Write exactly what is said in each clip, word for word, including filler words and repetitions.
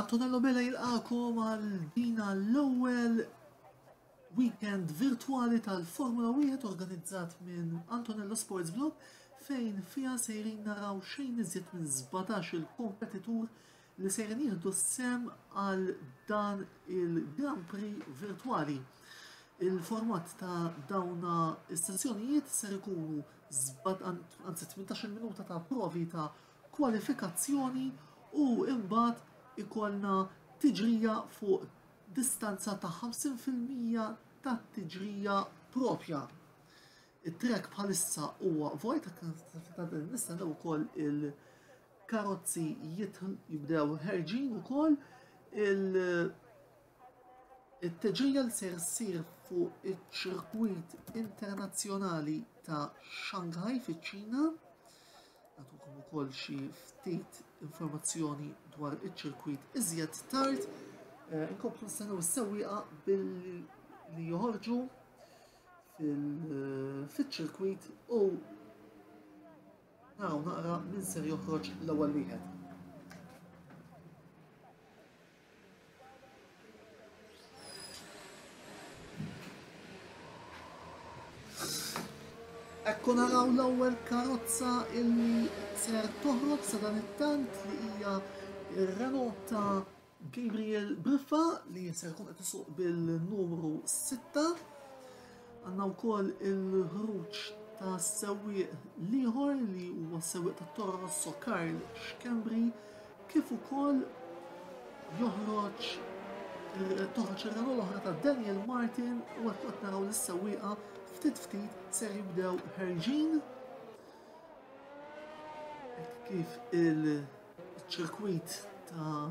Antonello Bella jilqakom għal dina l-ewwel weekend virtuali tal-Formula wieħed organizzat minn Antonello Sports Blog, fejn fiha sejrin naraw xejn iżjed minn sbatax il-kompetitur li sejrin jieħdu sem għal dan il-Grand Prix virtuali. Il-format ta' dawna is-sessjonijiet ser ikunu anzi tmintax-il minuta ta' provi ta' kwalifikazzjoni u imbagħad ikollna tiġrija fuq distanza ta' ħamsin fil-mija ta' tiġrija propja. It-trek bħalissa huwa vojt, nistennew ukoll il-karozzi jibdew ħerġin ukoll. Il-tiġrija li ser ssir fuq iċ-ċirkwit internazzjonali ta' Shanghai fiċ-Ċina. Nagħtukom ukoll xi ftit informazzjoni dwar iċ-ċirkwit iżjed tard. Eh, inkomplu nistennew is-sewwieqa billi li joħorġu fil-ċirkwit u naraw naqra min ser joħroġ l-ewwel wieħed. Ekku naraw l-ewwel karozza illi ser toħroġ sa dan it-tant li hija r-Renault ta' Gabriel Briffa li ser jkun qed isuq bil-numru sitta. Għandna wkoll il-ħruġ ta' sewwieq l-ieħor li huwa sewwieq ta' Toro Rosso Karl Schembri, kif ukoll joħroġ toħroġ ir-Renault l-oħra ta' Daniel Martin, u qed naraw lis-sewwieqa ftit ftit ser jibdew ħerġin. Hekk kif il-ċirkwit ta'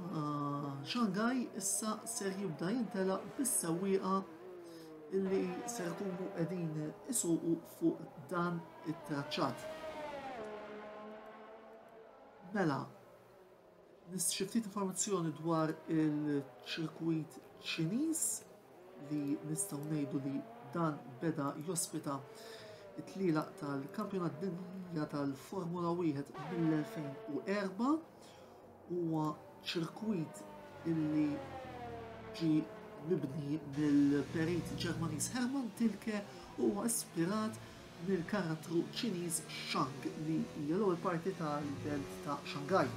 Shanghai issa ser jibda jintelaq bis-sewwieqa illi ser ikunu qegħdin isuqu fuq dan it-traċċat. Mela, xi ftit informazzjoni dwar il-ċirkwit Ċiniż li nistgħu ngħidu li dan beda jospita it-tlielaq tal-Kampjonat Dinjija tal-Formula wieħed mill-elfejn u erba'. Huwa ċirkwit illi ġie mibni mill-perit Ġermaniż Hermann Tilke u huwa ispirat mill-karattru Ċiniż Shang li hija l-ewwel parti tal-belt ta' Shanghai.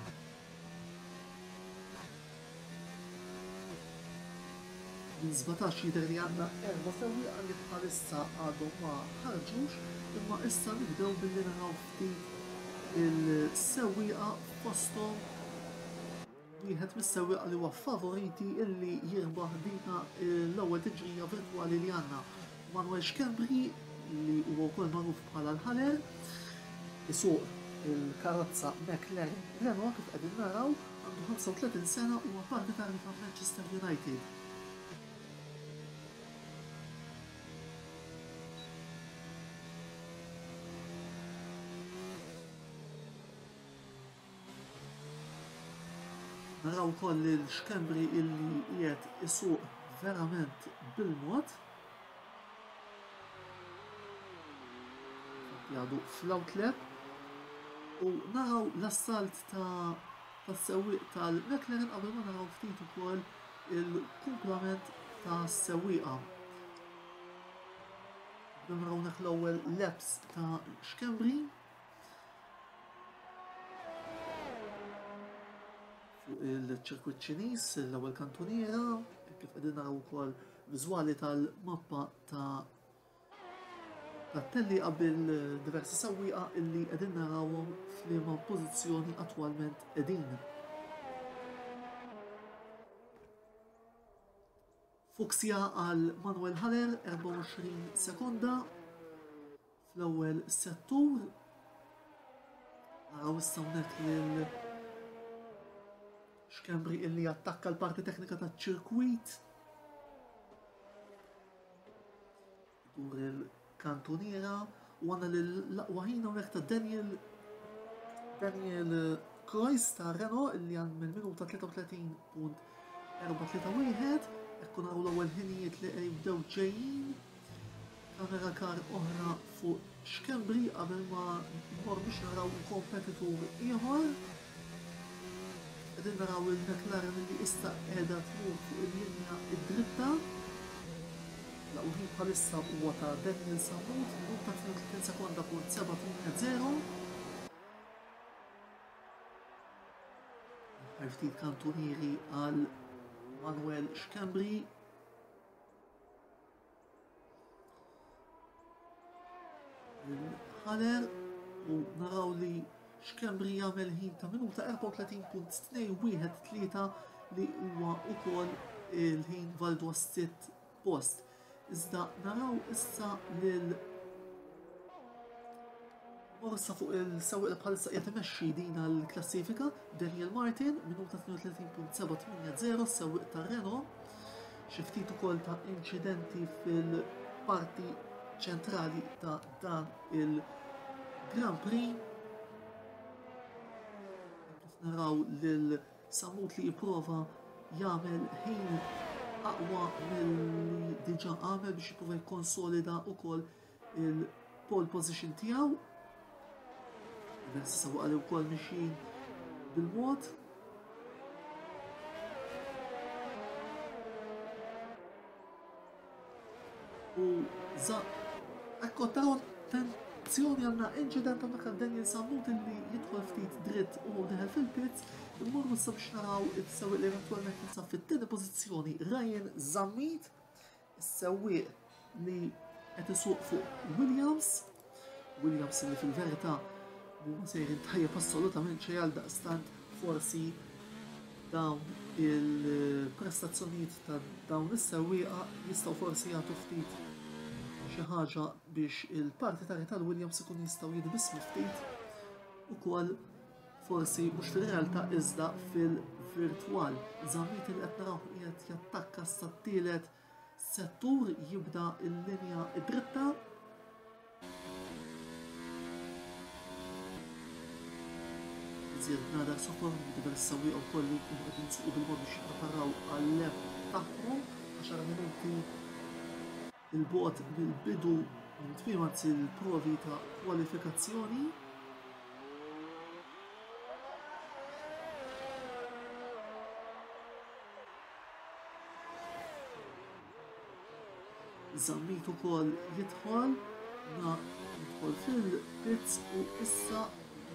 Minn sbatax jidher li għandna erba' sewwieqa li bħalissa għadhom ma ħarġux, imma issa nibdew billi naraw ftit il-sewwieqa fosthom wieħed mis-sewwieqa li huwa favoriti illi jirbaħ dina l-ewwel tiġrija virtwali li għandna. Manuel Schembri, li huwa wkoll magħruf bħala l-Ħaler, isuq il-karozza McLaren Renault kif qegħdin naraw, għandu ħamsa u tletin sena u huwa partitarju ta' Manchester United. Naraw ukoll lil Schembri illi qiegħed isuq verament bil-mod. Jgħadu fl-outlap u naraw l-assalt ta' tas-sewwieq tal-McLaren qabel ma naraw ftit ukoll il-kumplament tas-sewwieqa. Naraw hawnhekk l-ewwel laps ta' Schembri. Fuq il-ċirkwit Ċiniż, l-ewwel kantuniera, kif qegħdin naraw ukoll viżwali tal-mappa ta' tat-tellieqa bil-diversi sewwieqa illi qegħdin narawhom f'liema pożizzjoni attwalment qegħdin. Fuksja għal Manuel Haller, erbgħa u għoxrin sekonda fl-ewwel settur. Naraw issa hawnhekk lil Schembri illi attakka l-parti teknika taċ-ċirkwit. Dur il-kantuniera u għandna l-aqwa ħin hawnhekk ta' Daniel, Daniel Kreuz ta' Renault illi għand mill-minuta tlieta u tletin punt erba' tlieta wieħed. Ekku naraw l-ewwel ħinijiet li jibdew ġejjin. Kamera kar oħra fuq Schembri qabel ma nmorru biex naraw kompetitur ieħor. Qegħdin naraw il-McLaren li issa qiegħda tmur fuq il-linja id-dritta. L-aqwa ħin bħalissa huwa ta' Daniel Sammut, minuta tnejn u tletin sekonda punt seba' tmien zero. Ftit kantunieri għal Manuel Schembri. Il-ħaler u naraw li Schembri jagħmel ħin ta' minuta erbgħa u tletin punt tnejn wieħed tlieta li huwa wkoll il-ħin validu għas-sitt post. Iżda naraw issa lil Morsa fuq il-sewwieq li bħalissa qiegħed imexxi din l-klassifika, Daniel Martin, minuta tnejn u tletin punt seba' tmien zero, sewwieq ta' Renault. Xi ftit ukoll ta' inċidenti fil-parti ċentrali ta' dan il-Grand Prix. Kif naraw lil Sammut li jipprova jagħmel ħin aqwa milli diġà għamel biex jipprova jikkonsolida wkoll il-pole position tiegħu. Diversi sewwieqa li wkoll mixjin bil-mod. U za ekko taraw attenzjoni, għandna inċident hawnhekk għal Daniel Sammut illi jidħol ftit dritt u deħel fil-pits. Immorru issa biex naraw is-sewwieq li eventwalment jinsab fit-tieni pożizzjoni, Ryan Zammit, is-sewwieq li qed isuq fuq Williams. Williams li fil-verità huma sejrin tajjeb assolutament xejn, għal daqstant forsi dawn il-prestazzjonijiet ta' dawn is-sewwieqa jistgħu forsi jagħtu ftit xi ħaġa biex il-partitarji tal-Williams ikun jistgħu jitbissmu ftit ukoll, forsi mhux fil-realtà iżda fil-virtwal. Zammit li qed naraw qiegħed jattakka sa t-tielet settur, jibda l-linja dritta. Iżjed bnadar sofor, diversi sewwieqa wkoll li jkunu qegħdin jsuqu bil-mod biex jippreparaw għal-lap tagħhom. Għaxar minuti il-bogħod mill-bidu minn tmiem anzi l-provi ta' kwalifikazzjoni. Zammit ukoll jidħol, na jidħol fil-pits u issa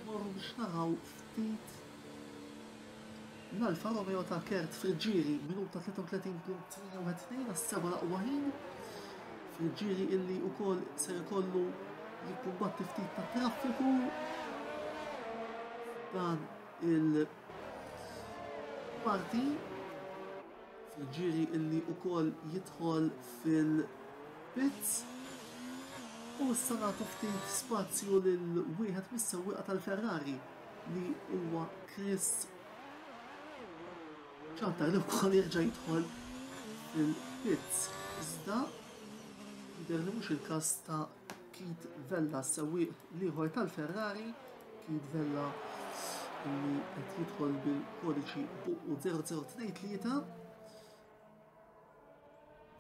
morru biex naraw ftit l-Alfa Romeo ta' Kurt Friggieri, minuta tlieta u tletin punt tmien wieħed tnejn għas-seba' l-aqwa ħin. Friggieri illi wkoll ser ikollu jikkumbatti ftit ta' traffiku dan il-parti. Friggieri illi wkoll jidħol fil-pits u issa nagħtu ftit spazju lil wieħed mis-sewwieqa tal-Ferrari li huwa Chris Ciantar li wkoll jerġa' jidħol fil-pits. Iżda jidher li mhux il-każ ta' Keith Vella, sewwieq l-ieħor tal-Ferrari. Keith Vella li qed jidħol bil-kodiċi B U zero zero tnejn tlieta.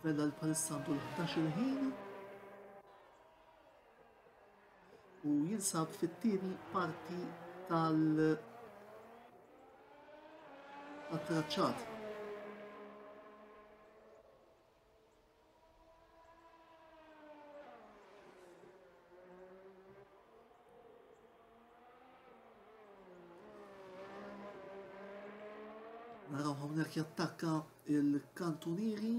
Vella li bħalissa għandu l-ħdax il-ħin u jinsab fit-tieni parti tal- tat-traċċat. Naraw hawnhekk jattakka il-kantunieri,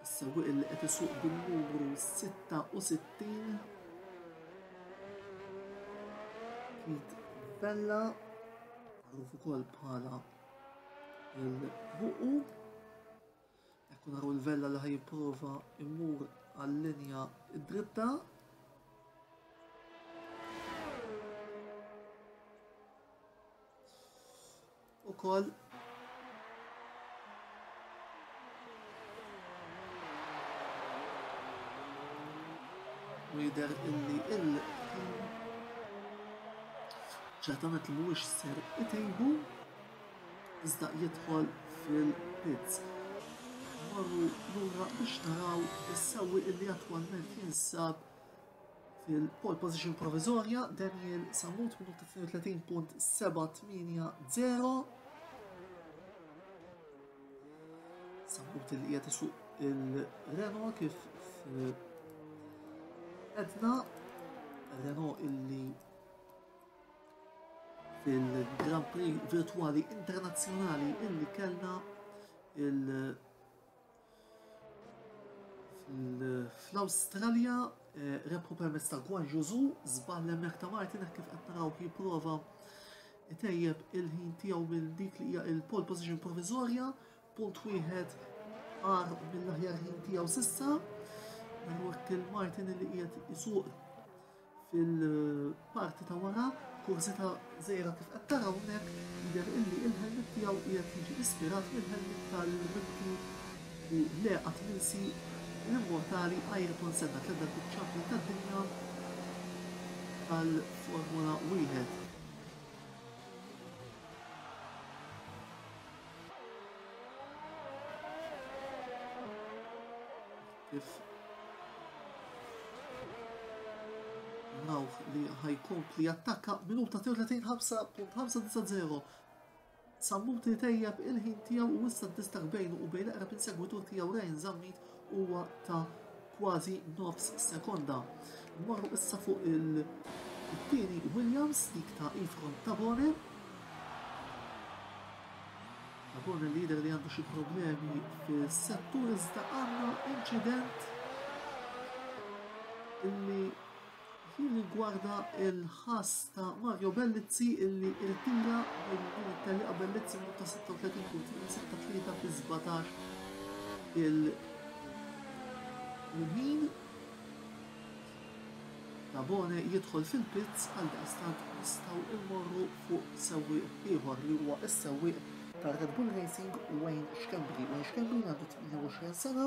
is-sewwieq li qed isuq bin-numru sitta u sittin, Keith Vella, magħruf ukoll bħala il-Buqu. Ekku naraw il-Vella li ħajjipprova immur għal-linja dritta. Ukoll u jidher illi il-ħin ċertament li mhuwiex ser itejbu, iżda jidħol fil-pits. Marru lura biex naraw is-sewwieq illi attwalment jinsab fil-pole position provizorja, Daniel Sammut, minuta tnejn u tletin punt seba' tmienja zero. Sammut li qiegħed isuq il-Renault kif edna, Renault illi fil-Grand Prix virtuali internazzjonali illi kellna il fl-Awstralja rebħu permezz ta' Guan Yu Zhou, żball hemmhekk ta' Martin hekk kif qed naraw jipprova itejjeb il-ħin tiegħu minn dik li hija il-pole position provviżorja, punt wieħed għar mill-aħjar ħin tiegħu s'issa. Naraw hekk il-Martin li qiegħed isuq fil-parti ta' wara, kursita żgħira kif qed taraw hawnhekk, jidher illi il-helmet tiegħu qiegħed jiġi ispirat mill-helmet tal-mibki u le qatt minsi l-immortali Ayrton Senna, tliet darbiet champion tad-dinja tal-Formula wieħed. Kif narawh li ħajkompli jattakka minuta tnejn u tletin ħamsa punt ħamsa disa' zero. Sammut tejjeb il-ħin tiegħu u issa d-distakk bejnu u bejn l-eqreb insegwitur tiegħu Ryan Zammit huwa ta' kważi nofs sekonda. Morru issa fuq il-tieni Williams, dik ta' Efron Tabone. Tabone l-lider li għandu xi problemi fis-settur, iżda għandna inċident illi jirrigwarda il-ħass ta' Mario Bellizzi illi irtira minn din it-tellieqa. Bellizzi minuta sitta u tletin punt sitta tlieta fi sbatax il-ħin. Tabone jidħol fil-pits, għal daqstant nistgħu immorru fuq sewwieq ieħor li huwa s-sewwieq ta' Red Bull Racing, Wayne Schembri. Wayne Schembri għandu tmienja u għoxrin sena,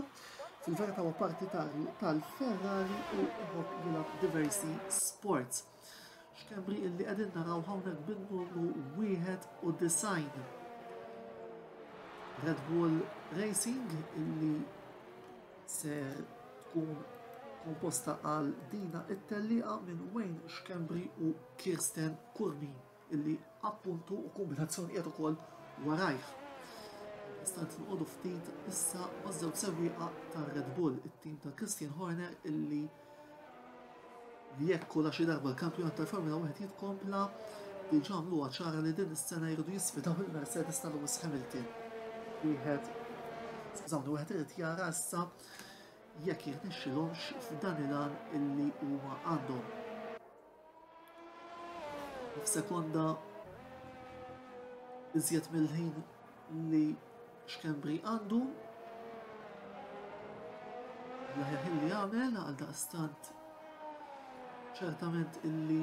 fil-verità huwa partitarju tal-Ferrari u jħobb jilgħab diversi sports. Schembri illi qegħdin naraw hawnhekk bin-numru wieħed u disgħin. Red Bull Racing illi ser tkun komposta għal dina it-tellieqa minn Wayne Schembri u Kirsten Curmi illi appuntu u kombinazzjoni qiegħed ukoll warajh. Istant noqogħdu ftit issa maż-żewġ sewwieqa ta' Red Bull, it-tim ta' Christian Horner illi jekk la xi darba l-kampjonat tal-Formula wieħed jitkompla, diġà għamluha ċara li din is-sena jridu jisfidaw il-Mercedes ta' Lewis Hamilton. Wieħed, skużawni, wieħed irid jara issa jekk jirnexxilhomx f'dan il-għan illi huma għandhom. F'sekonda iżjed mill-ħin li Schembri għandu, l-aħjar ħin li għamel għal daqstant ċertament illi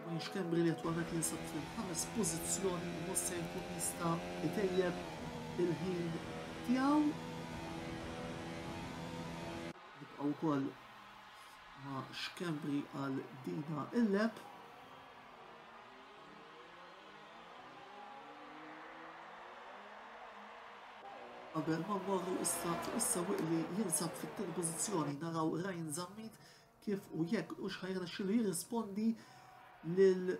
Wayne Schembri li attwalment jinsab fil-ħames pożizzjoni mhux se jkun jista' jtejjeb il-ħin tiegħu. Nibqgħu wkoll ma' Schembri għal dina il-lap. Qabel ma mmorru issa fuq is-sewwieq li jinsab fit-tieni pożizzjoni naraw Ryan Zammit kif u jekk u x'ħajrnexxielu jirrispondi lil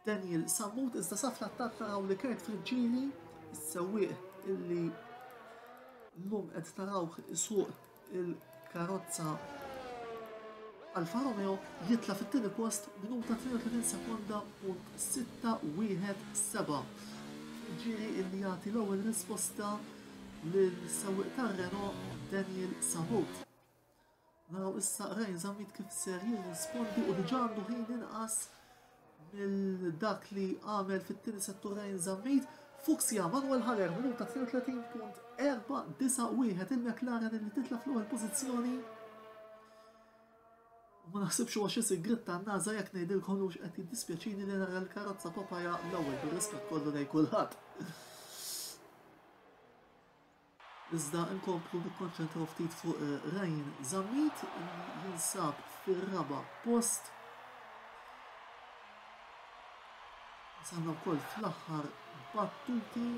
Daniel Sammut, iżda sa fl-attakk naraw li Kurt Friggieri, is-sewwieq illi llum qed narawh isuq il-karozza Alfa Romeo, jitla' fit-tieni post minuta tnejn u tletin sekonda punt sitta wieħed seba'. Friggieri illi jagħti l-ewwel risposta lil sewwieq tar-Renault Daniel Sammut. Naraw issa Ryan Zammit kif ser jirrispondi u diġà għandu ħin inqas mill dak li għamel fit-tieni settur Ryan Zammit. Fuxia Manuel Haller minuta tnejn u tletin punt erba' disa' wieħed, il-McLaren li titla' fl-ewwel pożizzjoni. U ma naħsibx huwa xi sigriet tan-NASA jekk ngħidilkom li mhux qed jiddispjaċini li nara l-karozza Papaja l-ewwel, bir-rispett kollu lejn kulħadd. Iżda nkomplu nikkonċentraw ftit fuq, eh, Ryan Zammit li jinsab fir-raba' post. Wasalna wkoll fl-aħħar battuti.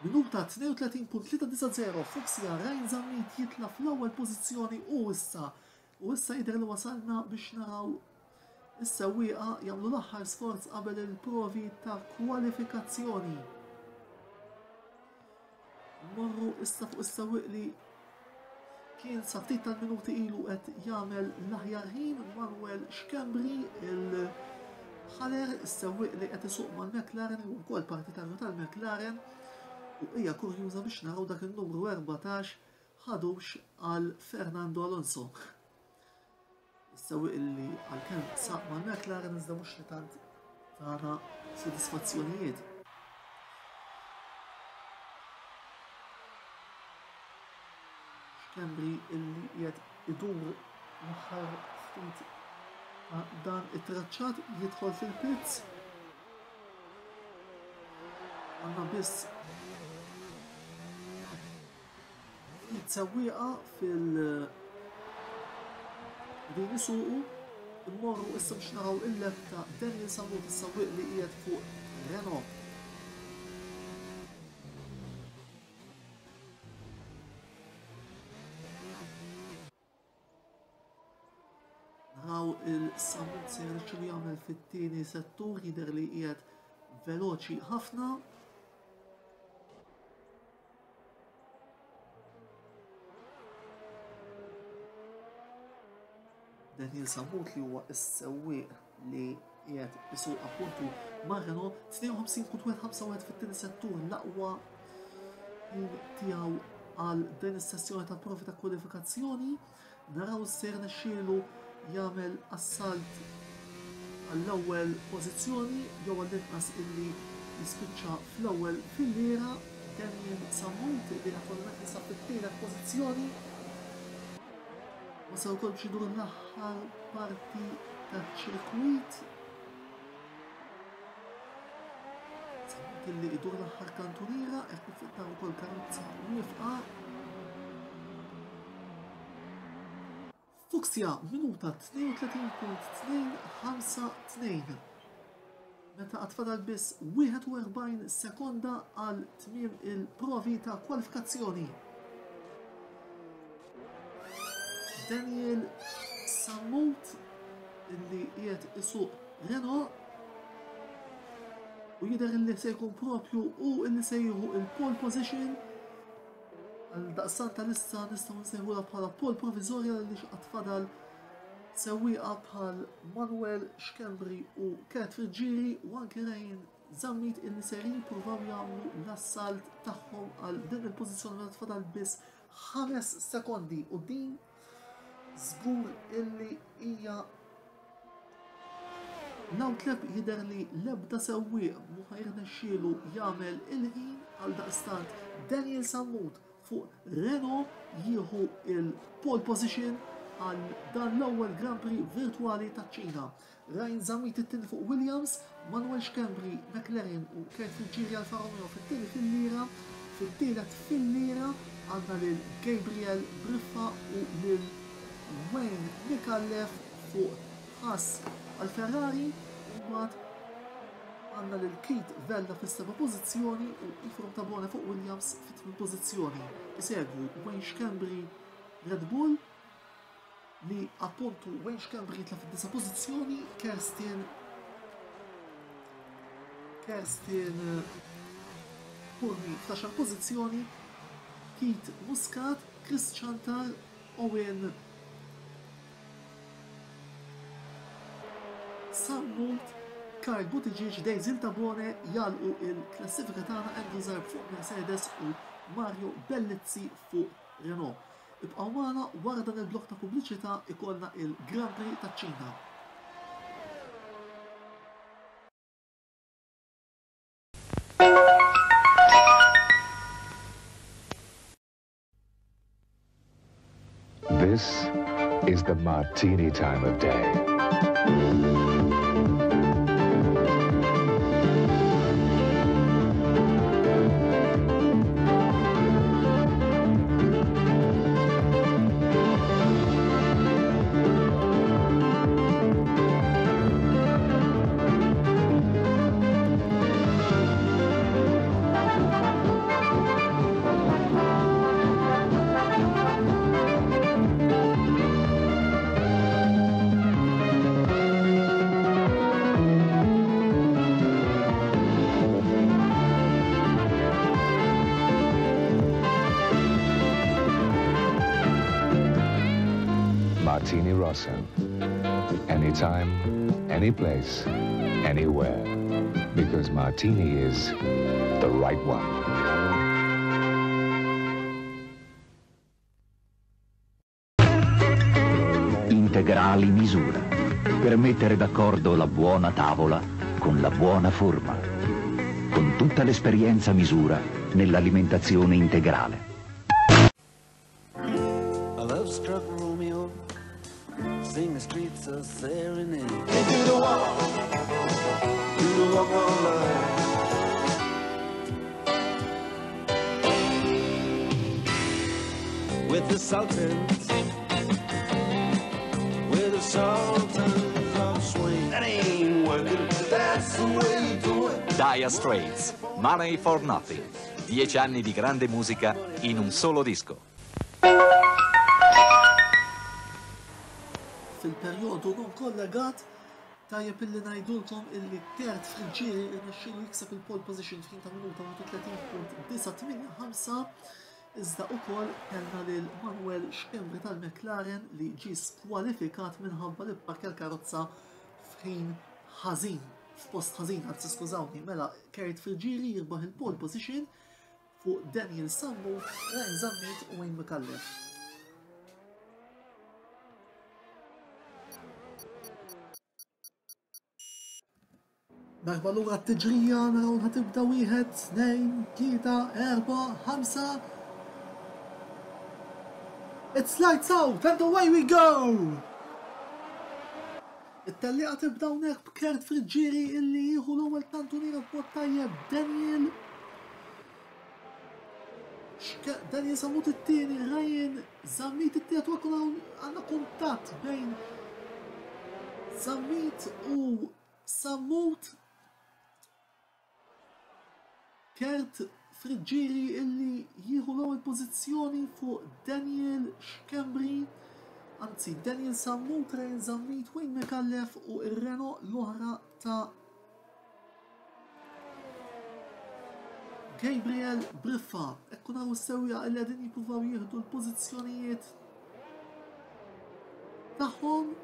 Minuta tnejn u tletin punt tlieta disa' zero, Fuxia Ryan Zammit jitla' fl-ewwel pożizzjoni u issa u issa jidher li wasalna biex naraw is-sewwieqa jagħmlu l-aħħar sforz qabel il-provi ta' kwalifikazzjoni. Morru issa fuq is-sewwieq li kien sa ftit tal-minuti ilu qed jagħmel l-aħjar ħin, Manuel Schembri, il-ħaler, is-sewwieq li qed isuq mal-McLaren u wkoll partitarju tal-McLaren, u hija kurjuża biex naraw dak il-numru erbatax ħadux għal Fernando Alonso. Is-sewwieq li għalkemm saq mal-McLaren iżda mhux li tant tana sodisfazzjonijiet. Schembri illi qiegħed idur l-aħħar ftit ta' dan it-traċċat jidħol fil-pits. Għandna biss ftit sewwieqa fil- din isuqu. Immorru issa biex naraw il-lap ta' Daniel Sammut, is-sewwieq li qiegħed fuq Renault. Naraw il-Sammut se jirnexxielu jagħmel fit-tieni settur, jidher li qiegħed veloċi ħafna. Daniel Sammut li huwa s-sewwieq li qiegħed isuq appuntu ma' Renault, tnejn u ħamsin punt wieħed ħamsa wieħed fit-tieni settur, l-aqwa ħin tiegħu għal din is-sessjoni ta' provi ta' kwalifikazzjoni. Naraw se jirnexxielu jagħmel assalt għall-ewwel pożizzjoni jew għall-inqas illi jispiċċa fl-ewwel filliera. Daniel Sammut li attualment jinsab fit-tielet pożizzjoni. Wasal ukoll biex idur l-aħħar parti taċ-ċirkwit. Sammut illi idur l-aħħar kantuniera, hekk kif qed naraw ukoll karozza wieqfa. Fuxia minuta tnejn u tletin punt tnejn ħamsa tnejn. Meta għad fadal biss wieħed u erbgħin sekonda għal tmiem il-provi ta' kwalifikazzjoni. Daniel Sammut illi qiegħed isuq Renault u jidher illi se jkun propju u illi se jieħu il-pole position. Għal daqstant tal-issa nistgħu nsejħulha bħala pole proviżorja li għad fadal sewwieqa bħal Manuel Schembri u Kurt Friggieri u anke Ryan Zammit illi se jippruvaw jagħmlu l-assalt tagħhom għal din il-pożizzjoni meta tfadal biss ħames sekondi, u din żgur illi hija l-outlap. Jidher li l-ebda sewwieq mhu ħajrnexxielu jagħmel il-ħin. Għal daqstant Daniel Sammut fuq Renault jieħu il-pole position għal dan l-ewwel Grand Prix virtuali taċ-Ċina. Ryan Zammit it-tieni fuq Williams, Manuel Schembri, McLaren u Kurt Friggieri Alfa Romeo fit-tieni fil-lira. Fit-tielet fil-lira għandna lil Gabriel Briffa u lil Wayne Micallef fuq Haas għal Ferrari, u mbagħad għandna lil Keith Vella fis-seba' pożizzjoni u Ifrom Tabone fuq Williams fit-tmien pożizzjoni. Isegwu Wayne Schembri Red Bull li appuntu Wayne Schembri jitla' fid-disa' pożizzjoni, Kerstin Kerstin Curmi fl-għaxar pożizzjoni, Keith Muscat, Chris Chantar, Owen Sammut, Karl Buttigieg, Daisy Tabone jalqu il-klassifika tagħna, Andrew Zarb fuq Mercedes u Mario Bellizzi fuq Renault. Ibqgħu magħna wara dan il-blok ta' pubbliċità ikollna il-Grand Prix taċ-Ċina. This is the martini time of day. Martini Rosso. Anytime, any place, anywhere. Because Martini is the right one. Integrali misura, per mettere d'accordo la buona tavola con la buona forma. Con tutta l'esperienza misura nell'alimentazione integrale. A love-struck Romeo, sing the streets a serenade. They do the walk, do the walk of love. With the Sultans, with the Sultans of Swing. That ain't working, that's the way you do it. Dire Straits, Money for Nothing. Dieci anni di grande musica in un solo disco. Fil-perjodu non kollegat, tajjeb illi ngħidulkom illi Kurt Friggieri rnexxielu jikseb il-pole position f'ħin ta' minuta u tletin punt disa' tmienja ħamsa, iżda ukoll kellna lil Manuel Schembri tal-McLaren li ġie skwalifikat minħabba li pparkja l-karozza f'ħin ħażin, f'post ħażin, anzi skużawni, mela Kurt Friggieri jirbaħ il-pole position fuq Daniel Sammut, Ryan Zammit u Wayne Micallef. Darba lura t-tiġrija, naraw ħatibda wieħed, tnejn, tlieta, erba', ħamsa. It's lights out and away we go! It-tellieqa tibda hawnhekk b'Kurt Friggieri illi jieħu l-ewwel kantuniera b'mod tajjeb, Daniel Xke-, Daniel Sammut it-tieni, Ryan Zammit it-tielet, u hekk hawn għandna kuntatt bejn Zammit u Sammut. Kurt Friggieri illi jieħu l-ewwel pożizzjoni fuq Daniel Schembri, anzi Daniel Sammut, Ryan Zammit, Wayne Micallef u r-Renault l-oħra ta' Gabriel Briffa. Ekku naraw s-sewwieqa illi qegħdin jippruvaw jieħdu l-pożizzjonijiet tagħhom.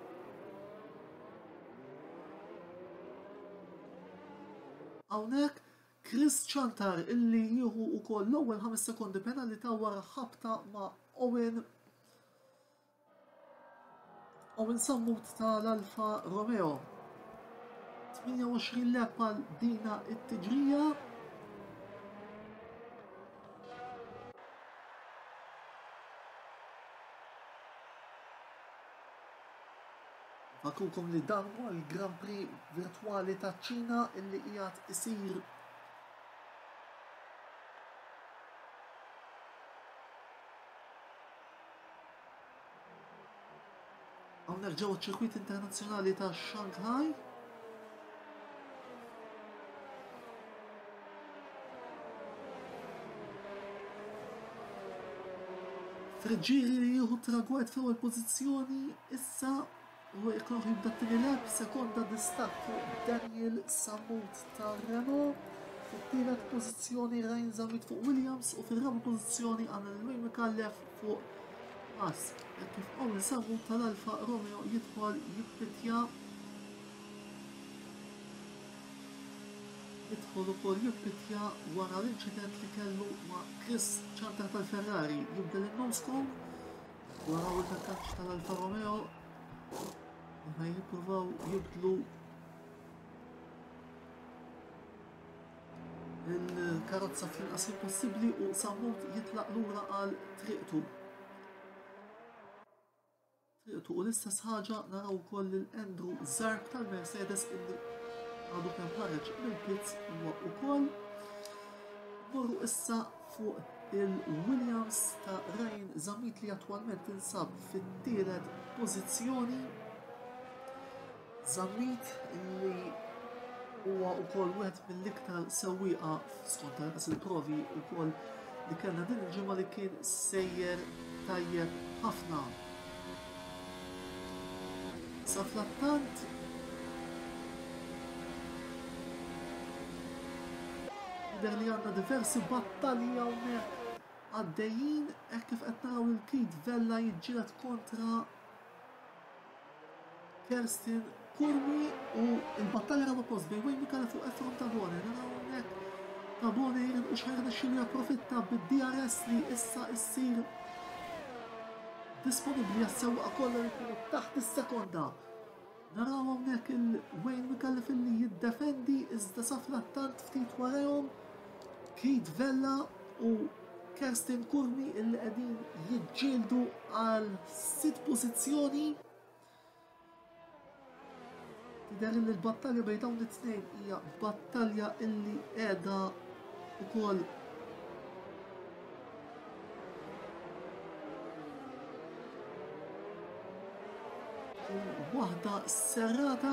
Hawnhekk Chris Ciantar illi jieħu wkoll l-ewwel ħames sekondi penalità wara ħabta ma' Owen Owen Sammut tal-Alfa Romeo. tmienja u għoxrin lap għal dina it-tiġrija. Fakrukom li dan huwa l-Grand Prix virtwali taċ-Ċina illi qiegħed isir hawnhekk ġewwa ċ-ċirkwit internazzjonali ta' Shanghai. Friggieri li jieħu tragward fl-ewwel pożizzjoni issa u jekk jibda t-tieni lap, sekonda distakk fuq Daniel Sammut ta' Renault. Fit-tielet pożizzjoni Ryan Zammit fuq Williams u fir-raba' pożizzjoni għandna lil Wayne Micallef fuq Haas. Hekk kif Owen Sammut tal-Alfa Romeo jidħol jippitja, jidħol ukoll jippitja wara l-inċident li kellu ma' Chris Ciantar tal-Ferrari. Jibdel in-noscone wara il-takkaċ tal-Alfa Romeo. Aħna jippruvaw jibdlu il-karozza fl-inqas possibbli u Sammut jitlaq lura għal triqtu. Triqtu u l-istess ħaġa naraw ukoll lil Andrew Zarb tal-Mercedes illi għadu kemm ħareġ mill-pits huwa ukoll. Morru issa fuq il-Williams ta' Ryan Zammit li attwalment tinsab fit-tielet pożizzjoni. Zammit li huwa wkoll wieħed mill-iktar sewwieqa skont tal-inqas il-provi wkoll li kellna din il-ġimgħa li kien sejjer tajjeb ħafna. Sa frattant jidher li għandna diversi battalji hawnhekk għaddejjin hekk kif qed naraw il Keith Vella jiġġieled kontra Kerstin Curmi u l-battalja raba' post bejn Wayne Micallef u Efron Tabone. Naraw hawnhekk Tabone u x'ħajr xillu japprofitta bid-D R S li issa issir disponibbli għas-sewwieqa kollha li jkunu taħt is-sekonda. Naraw hawnhekk il-Wayne Micallef illi jiddefendi iżda sa frattant ftit warahom Keith Vella u Kerstin Curmi illi qegħdin jiġġieldu għal sitt pożizzjoni. Tidher li l-battalja bejn dawn it-tnejn hija battalja illi qiegħda ukoll waħda serrata.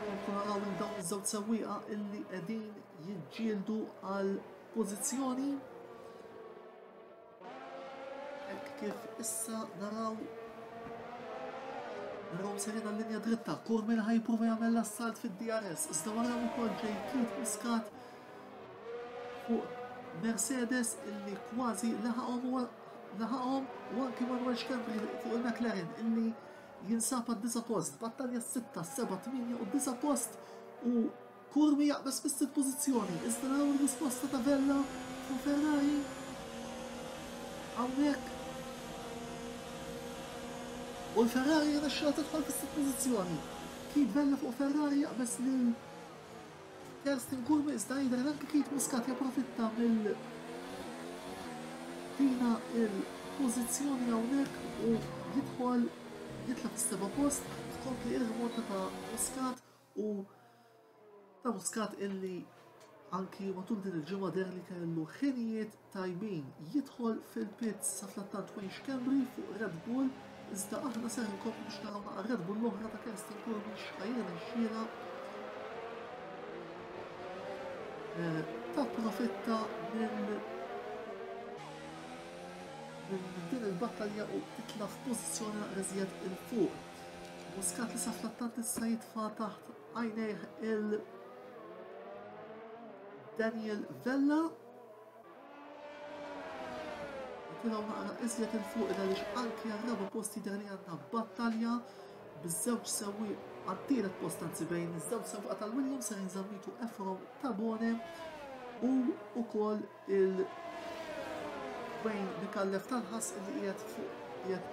Komplu naraw lil dawn iż-żewġ sewwieqa illi qegħdin jiġġieldu għal pożizzjoni. Hekk kif issa naraw naraw serin għal-linja dritta, Curmi li ħajpruva jagħmel l-assalt fid-D R S, iżda wara wkoll ġej Keith Muscat fuq Mercedes illi kważi laħaqhom u laħaqhom u anki Manuel Schembri fuq il-McLaren illi jinsab għad-disa' post, battalja sitta, seba', tmienja u disa' post u Curmi jaqbeż fis-sitt pożizzjoni, iżda naraw ir-risposta ta' Vella fuq Ferrari hawnhekk. U l-Ferrari jirnexxilha tidħol fis-sitt pożizzjoni. Keith Vella fuq Ferrari jaqbeż lil Kerstin Curmi, iżda jidher anke Keith Muscat japprofitta mill dina il-pożizzjoni hawnhekk u jidħol jitla' fis-seba' post, tkompli ir-rimonta ta' Muscat u ta' Muscat illi anki matul din il-ġimgħa deher li kellu ħinijiet tajbin jidħol fil-pits sa frattant Wayne Schembri fuq Red Bull, iżda aħna ser inkomplu biex naraw naqra Red Bull l-oħra ta' Kerstin Curmi x'ħajrnexxielha tapprofitta minn minn din il-battalja u titla' f'pożizzjoni naqra iżjed il fuq. Muscat li sa frattant issa jitfa' taħt għajnejh il Daniel Vella. Nitilgħu naqra iżjed il fuq għaliex anki għar-raba' post jidher li għandna battalja biż-żewġ sewwieq għat-tielet post, anzi bejn iż-żewġ sewwieqa tal-Williams ser inżammitu Efron Tabone u wkoll il Wayne Micallef tal-ħass li qiegħed fuq qiegħed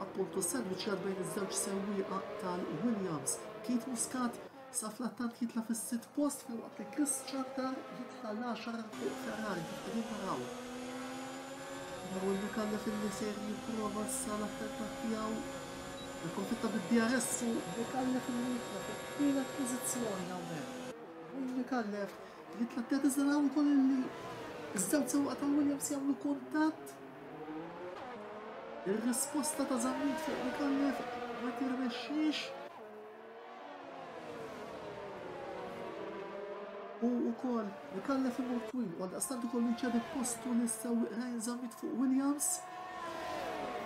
appuntu sandwichat bejn iż-żewġ sewwieqa tal-Williams. Keith Muscat sa frattant jitla' fis-sitt post filwaqt li Chris Ciantar jitla' l-għaxar fuq Ferrari kif qegħdin naraw. Naraw il-Micallef illi ser jipprova issa l-attentat tiegħu japprofitta bid-D R S u Micallef illi jitla' fit-tielet pożizzjoni hawnhekk. Wayne Micallef jitla' t-tielet iżda naraw ukoll illi iż-żewġ sewwieqa tal-Williams jagħmlu kuntatt. Ir-risposta ta' Zammit fuq Micallef ma tirnexxiex. U wkoll Micallef imur twil u għaldaqstant ukoll jċedi postu lis-sewwieq Ryan Zammit fuq Williams.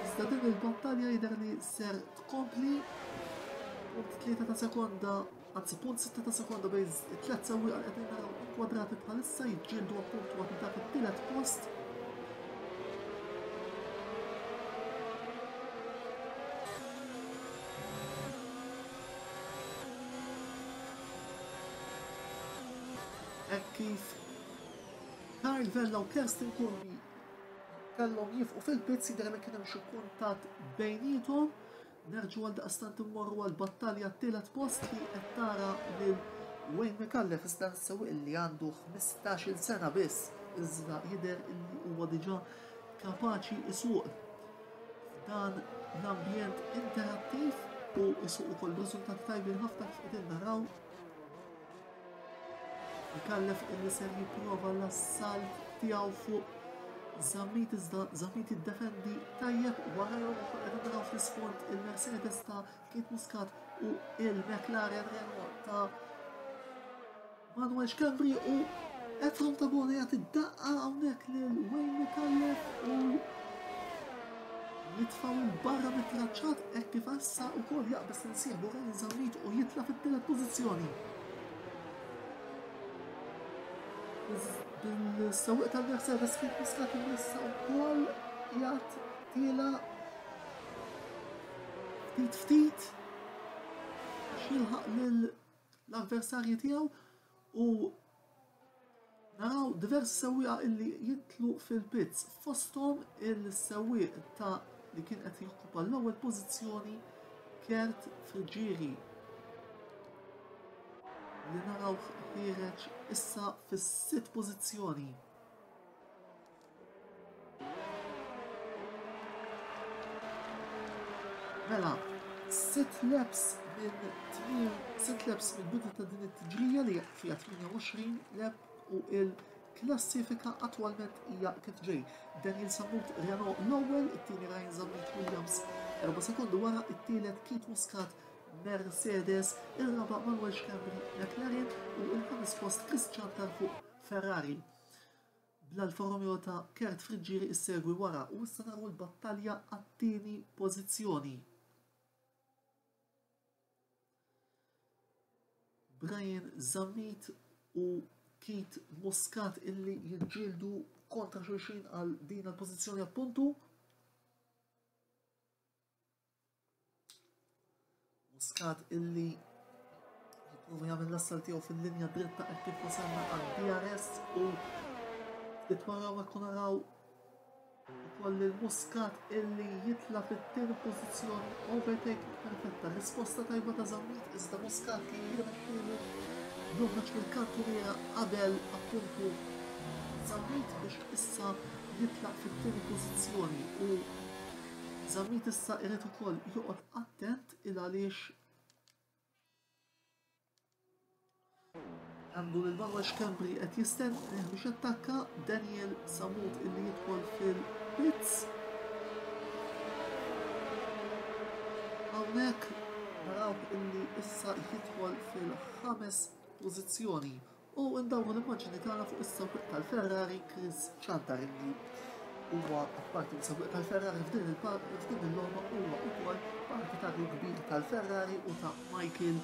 Iżda din il-battalja jidher li ser tkompli. Punt tlieta ta' sekonda, anzi punt sitta ta' sekonda bejn it-tliet sewwieqa li qegħdin naraw inkwadrati bħalissa jiġġieldu appuntu għal dak it-tielet post. Hekk kif Karl Vella u Kerstin Curmi kellhom jifqu fil-pits jidher li kien hemm xi kuntatt bejniethom. Nerġgħu għal daqstant immorru għal battalja t-tielet post li qed tara lil Wayne Micallef iżda nsewwieq li għandu ħmistax-il sena biss, iżda jidher li huwa diġà kapaċi isuq f'dan l-ambjent interattiv u isuq ukoll riżultati tajbin ħafna kif qegħdin naraw. Micallef illi ser jipprova l-assalt tiegħu fuq Zammit, iżda Zammit jiddefendi tajjeb warajhom ukoll qegħdin naraw fl-isfond il-Mercedes ta' Keith Muscat u il-McLaren Renault ta' Manuel Schembri u Efron Tabone jagħti daqqa hawnhekk lil Wayne Micallef u jitfgħu 'l barra mit-traċċat hekk kif issa wkoll jaqbeż insieħbu Ryan Zammit u jitla' fit-tielet pożizzjoni. Bil-sewwieq tal-Mercedes Keith Muscat issa wkoll qiegħed tiela' ftit ftit biex jilħaq lill-avversarji tiegħu u naraw diversi sewwieqa illi jitlu fil-pits, fosthom il-sewwieq ta' li kien qed jokkupa l-ewwel pożizzjoni Kurt Friggieri li naraw ħiereġ issa fis-sitt pożizzjoni. Mela, sitt laps minn tmiem, sitt laps minn bidu ta' din it-tiġrija li fiha tmienja u għoxrin lap u il-klassifika attwalment hija kif ġej. Daniel Sammut Renault l-ewwel, it-tieni Ryan Zammit Williams erba' sekondi wara, it-tielet Keith Muscat Mercedes, ir-raba' Manuel Schembri McLaren u l-ħames post Chris Ciantar fuq Ferrari. Bl-Alfa Romeo ta' Kurt Friggieri issegwi wara u issa naraw l-battalja għat-tieni pożizzjoni. Brian Zammit u Keith Muscat illi jiġġieldu kontra xulxin għal din il-pożizzjoni appuntu. Muscat illi jipprova jagħmel l-assal tiegħu fil-linja dritta hekk kif wasalna għal D R S u ftit wara hekk naraw ukoll il-Muscat illi jitla' fit-tieni pożizzjoni, overtake perfetta, risposta tajba ta' Zammit iżda Muscat li jirnexxielu joħroġ mill-kantuniera qabel appuntu Zammit biex issa jitlaq fit-tieni pożizzjoni u Zammit issa irid ukoll joqgħod attent il għaliex għandu lil Manuel Schembri qed jistenni biex jattakka Daniel Sammut illi jidħol fil-pits. Hawnhekk naraw illi issa jidħol fil-ħames pożizzjoni u ndawru l-immaġni tagħna fuq is-sewwieq tal-Ferrari Chris Ciantar illi huwa apparti mis-sewwieq tal-Ferrari f'din il-par-, f'din il-logħba huwa wkoll partitarju kbir tal-Ferrari u ta' Michael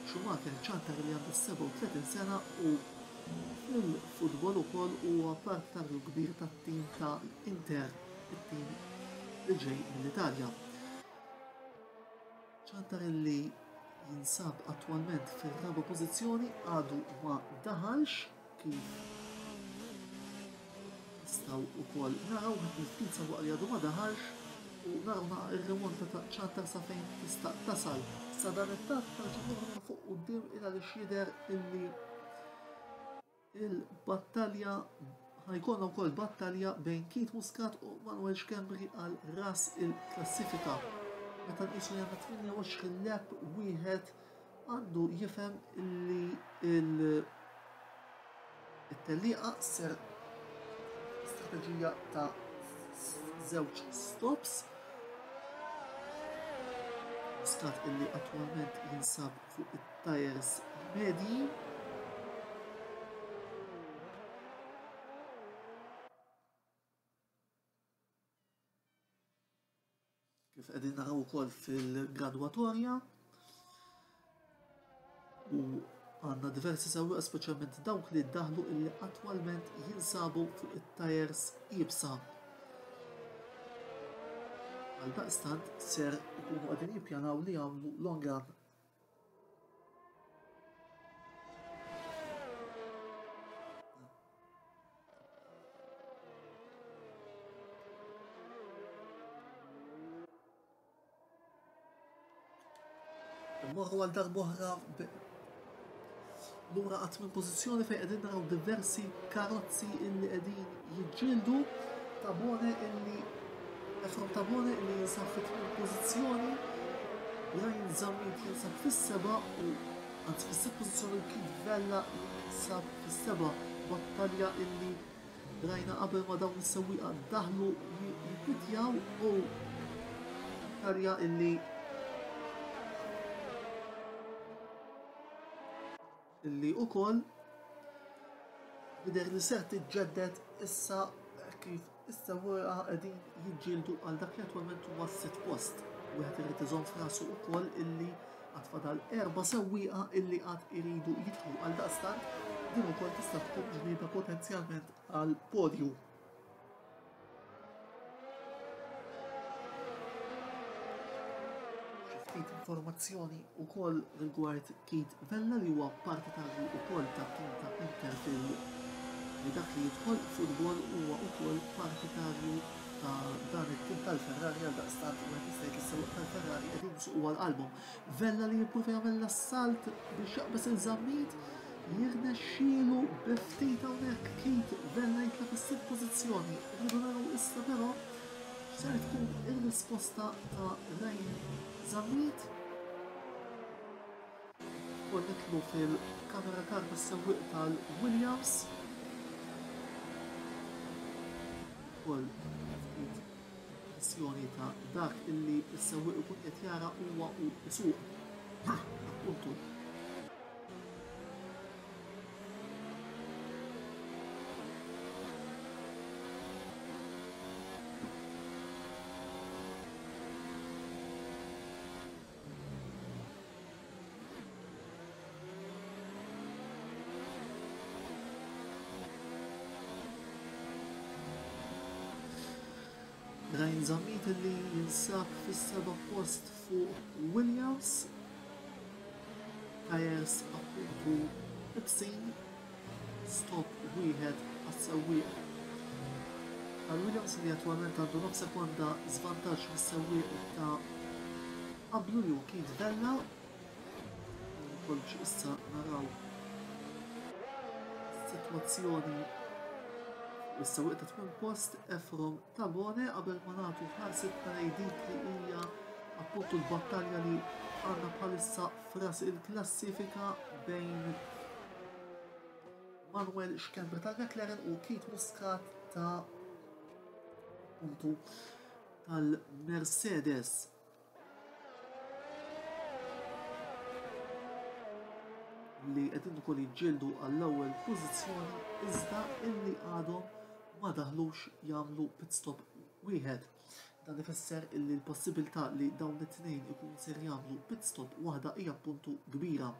Schumacher. Ciantar li għandu sebgħa u tletin sena u fil-futbol ukoll huwa partitarju kbir tat-tim ta' Inter, it-tim li ġej mill-Italja. Ciantar li jinsab attwalment fir-raba' pożizzjoni għadu ma daħalx kif nistgħu wkoll naraw il-ftit sewwaq li għadu ma daħalx u naraw naqra ir-rimonta ta' Ciantar sa fejn tista' tasal. Sa dan it-tat tarġa' nurma fuq quddiem il għaliex jidher illi il-battalja ħajkollna wkoll battalja bejn Keith Muscat u Manuel Schembri għal ras il-klassifika. Meta nqisu li għandna tmienja u għoxrin lap wieħed għandu jifhem illi il-, it-tellieqa ser strateġija ta' żewġ stops. Muscat illi attwalment jinsab fuq it-tires medji. Kif qegħdin naraw ukoll fil-gradwatorja u għandna diversi sewwieqa speċjalment dawk li ddaħlu illi attwalment jinsabu fuq it-tires iebsa. Għaldaqstant ser ikunu qegħdin jippjanaw li jagħmlu long run. Morru għal darb'oħra lura qatt minn pożizzjoni fejn qegħdin naraw diversi karozzi illi qegħdin jiġġieldu. Tabone illi Efrom Tabone illi jinsab fit-tmien pożizzjoni, Ryan Zammit jinsab fis-seba' u anzi fis-sitt pożizzjoni u Keith Vella jinsab fis-seba'. Battalja illi rajna qabel ma dawn is-sewwieqa daħlu jippitjaw u battalja illi illi ukoll jidher li ser tiġġedded issa kif is-sewwieqa qegħdin jiġġieldu għal dak li attwalment huwa s-sitt post. Wieħed irid iżomm f'rasu wkoll illi għad fadal erba' sewwieqa illi għad iridu jidħlu għal daqstant din ukoll tista' tkun ġlieda potenzjalment għal podju. Xi Ftit informazzjoni wkoll rigward Keith Vella li huwa partitarju wkoll tat-tim ta' Inter fil li dak li jidħol futbol huwa wkoll partitarju ta' dan it-tim tal-Ferrari, għal daqstant wieħed jista' jgħid is-sewwieq tal-Ferrari qegħdin isuqu għal qalbhom. Vella li jipprova jagħmel l-assalt biex jaqbeż il-Zammit, jirnexxielu bi ftit hawnhekk Keith Vella jitla' fis-sitt pożizzjoni. Irridu naraw issa però x'ser tkun ir-risposta ta' Ryan Zammit. Ukoll nidħlu fil-kamera car tas-sewwieq tal-Williams. Ukoll ftit impressjoni ta' dak illi s-sewwieq ikun qed jara huwa u isuq. Appuntu. Ryan Zammit li jinsab fis-seba' post fuq Williams, tires appuntu ibsin, stop wieħed għas-sewwieq tal-Williams li attwalment għandu nofs sekonda żvantaġġ mis-sewwieq ta' qablu li hu Keith Vella. Ukoll biex issa naraw sitwazzjoni is-sewwieq ta' tmien post Efrom Tabone qabel ma nagħtu ħarsitna lejn dik li hija appuntu l-battalja li għandna bħalissa f'ras il-klassifika bejn Manuel Schembri tal-McLaren u Keith Muscat ta' appuntu tal-Mercedes. Li qegħdin ukoll jiġġieldu għall-ewwel pożizzjoni iżda illi għadhom ma daħlux jagħmlu pit stop wieħed. Dan ifisser illi l-possibilità li dawn it-tnejn ikunu ser jagħmlu pit stop waħda hija appuntu kbira.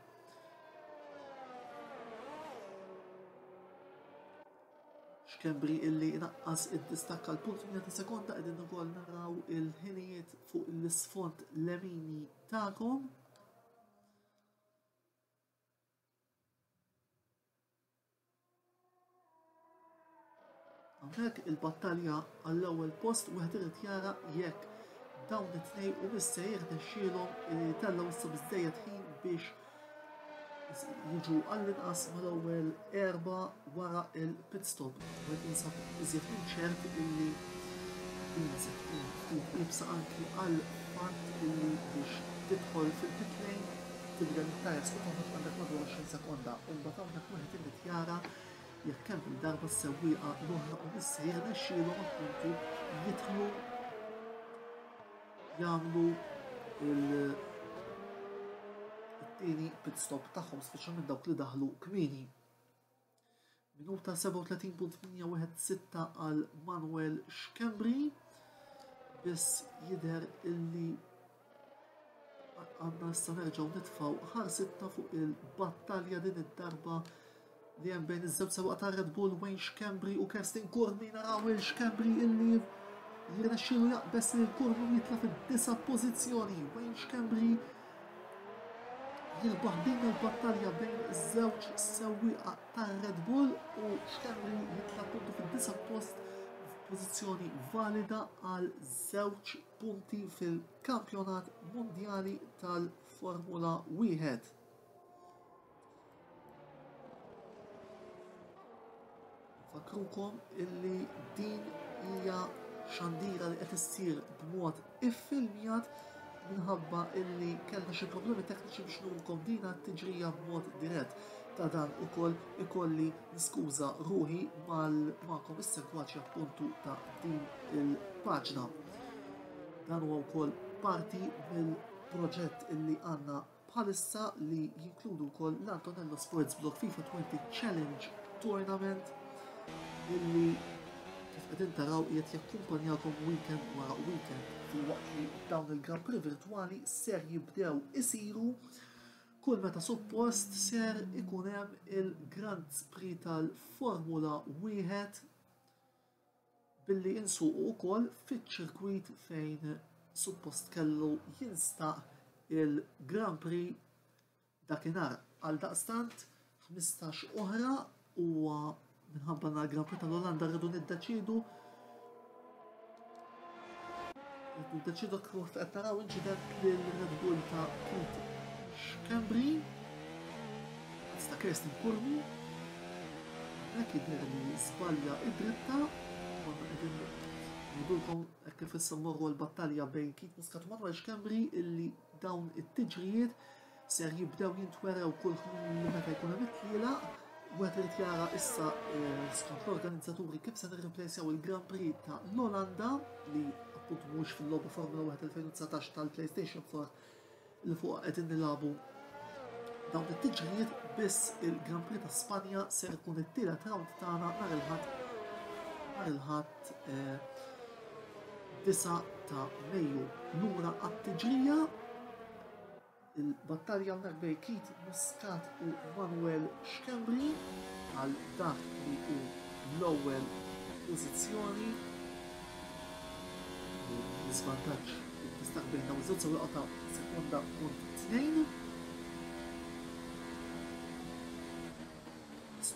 Schembri illi inaqqas id-distakk għal punt mija ta' sekonda, qegħdin ukoll naraw il-ħinijiet fuq l-isfond lemini tagħkom. Hawnhekk il-battalja għall-ewwel post wieħed irid jara jekk dawn it-tnejn u se jirnexxielhom li jtellgħu issa biżżejjed ħin biex jiġu għall-inqas mal-ewwel erba' wara il-pit stop. Wieħed jinsab iżjed minn ċert illi din se tkun ftit iebsa anki għal fatt illi biex tidħol fil-pit lane tibda mit-tires u toħroġ għandek madwar għoxrin sekonda. U mbagħad hawnhekk wieħed irid jara jekk kemm il-darba s-sewwieqa l-oħra u issa jirnexxielhom appuntu jidħlu jagħmlu il-tieni pit stop tagħhom, speċjalment dawk li daħlu kmieni. Minuta sebgħa u tletin punt tmienja wieħed sitta għal Manuel Schembri, biss jidher illi għandna issa nerġgħu nitfgħu ħarsitna fuq il-battalja din id-darba li hemm bejn iż-żewġ sewwieqa ta' Red Bull, Wayne Schembri u Kerstin Curmi. Naraw il Schembri illi jirnexxielu jaqbeż lil Curmi jitla' fid-disa' pożizzjoni. Wayne Schembri jirbaħ din il-battalja bejn iż-żewġ sewwieqa ta' Red Bull u Schembri jitla' appuntu fid-disa' post f'pożizzjoni valida għal żewġ punti fil-kampjonat mondjali tal-Formula wieħed. Fakrukom illi din hija xandira li qed issir b'mod iffilmjat minħabba illi kellna xi problemi tekniċi biex nurkom dina t-tiġrija b'mod dirett. Ta' dan ukoll ikolli niskuża ruħi mal-magħkom is-segwaċi appuntu ta' din il-paġna. Dan huwa wkoll parti mill-proġett illi għandna bħalissa li jinkludu wkoll l-Antonello Sports Blog FIFA twenty Challenge Tournament illi kif qegħdin taraw qiegħed jakkumpanjakom weekend wara weekend, filwaqt li dawn il-Grand Prix virtwali ser jibdew isiru kull meta suppost ser ikun hemm il-Grand Prix tal-Formula wieħed billi insuqu wkoll fiċ-ċirkwit fejn suppost kellu jinstaq il-Grand Prix dakinhar. Għal daqstant ħmistax oħra huwa minħabba na l-Grand Prix tal-Olanda rridu niddeċidu niddeċidu kif qed naraw inċident lil Red Bull ta' Keith Schembri ta' Kirsten Curmi. Hekk jidher li żbalja id-dritta, konna qegħdin ngħidulkom hekk kif issa mmorru l-battalja bejn Keith Muscat u Manuel Schembri illi dawn it-tiġrijiet ser jibdew jintwerew kull meta jkun hemm it-tlielaq. Wieħed irid jara issa skont l-organizzaturi kif se nirreplejsjaw il-Grand Prix ta' l-Olanda li appunt mhux fil-logħba Formula wieħed elfejn u dsatax tal-PlayStation four li fuq qegħdin nilagħbu dawn it-tiġrijiet, biss il-Grand Prix ta' Spanja ser ikun it-tielet round tagħna nhar il-Ħadd nhar il-Ħadd disgħa ta' Mejju. Lura għat-tiġrija il-battalja hawnhekk bejn Keith Muscat u Manuel Schembri għal dak li hu l-ewwel pożizzjoni. L-iżvantaġġ distakk bejn dawn iż-żewġ sewwieqa ta' sekonda punt tnejn.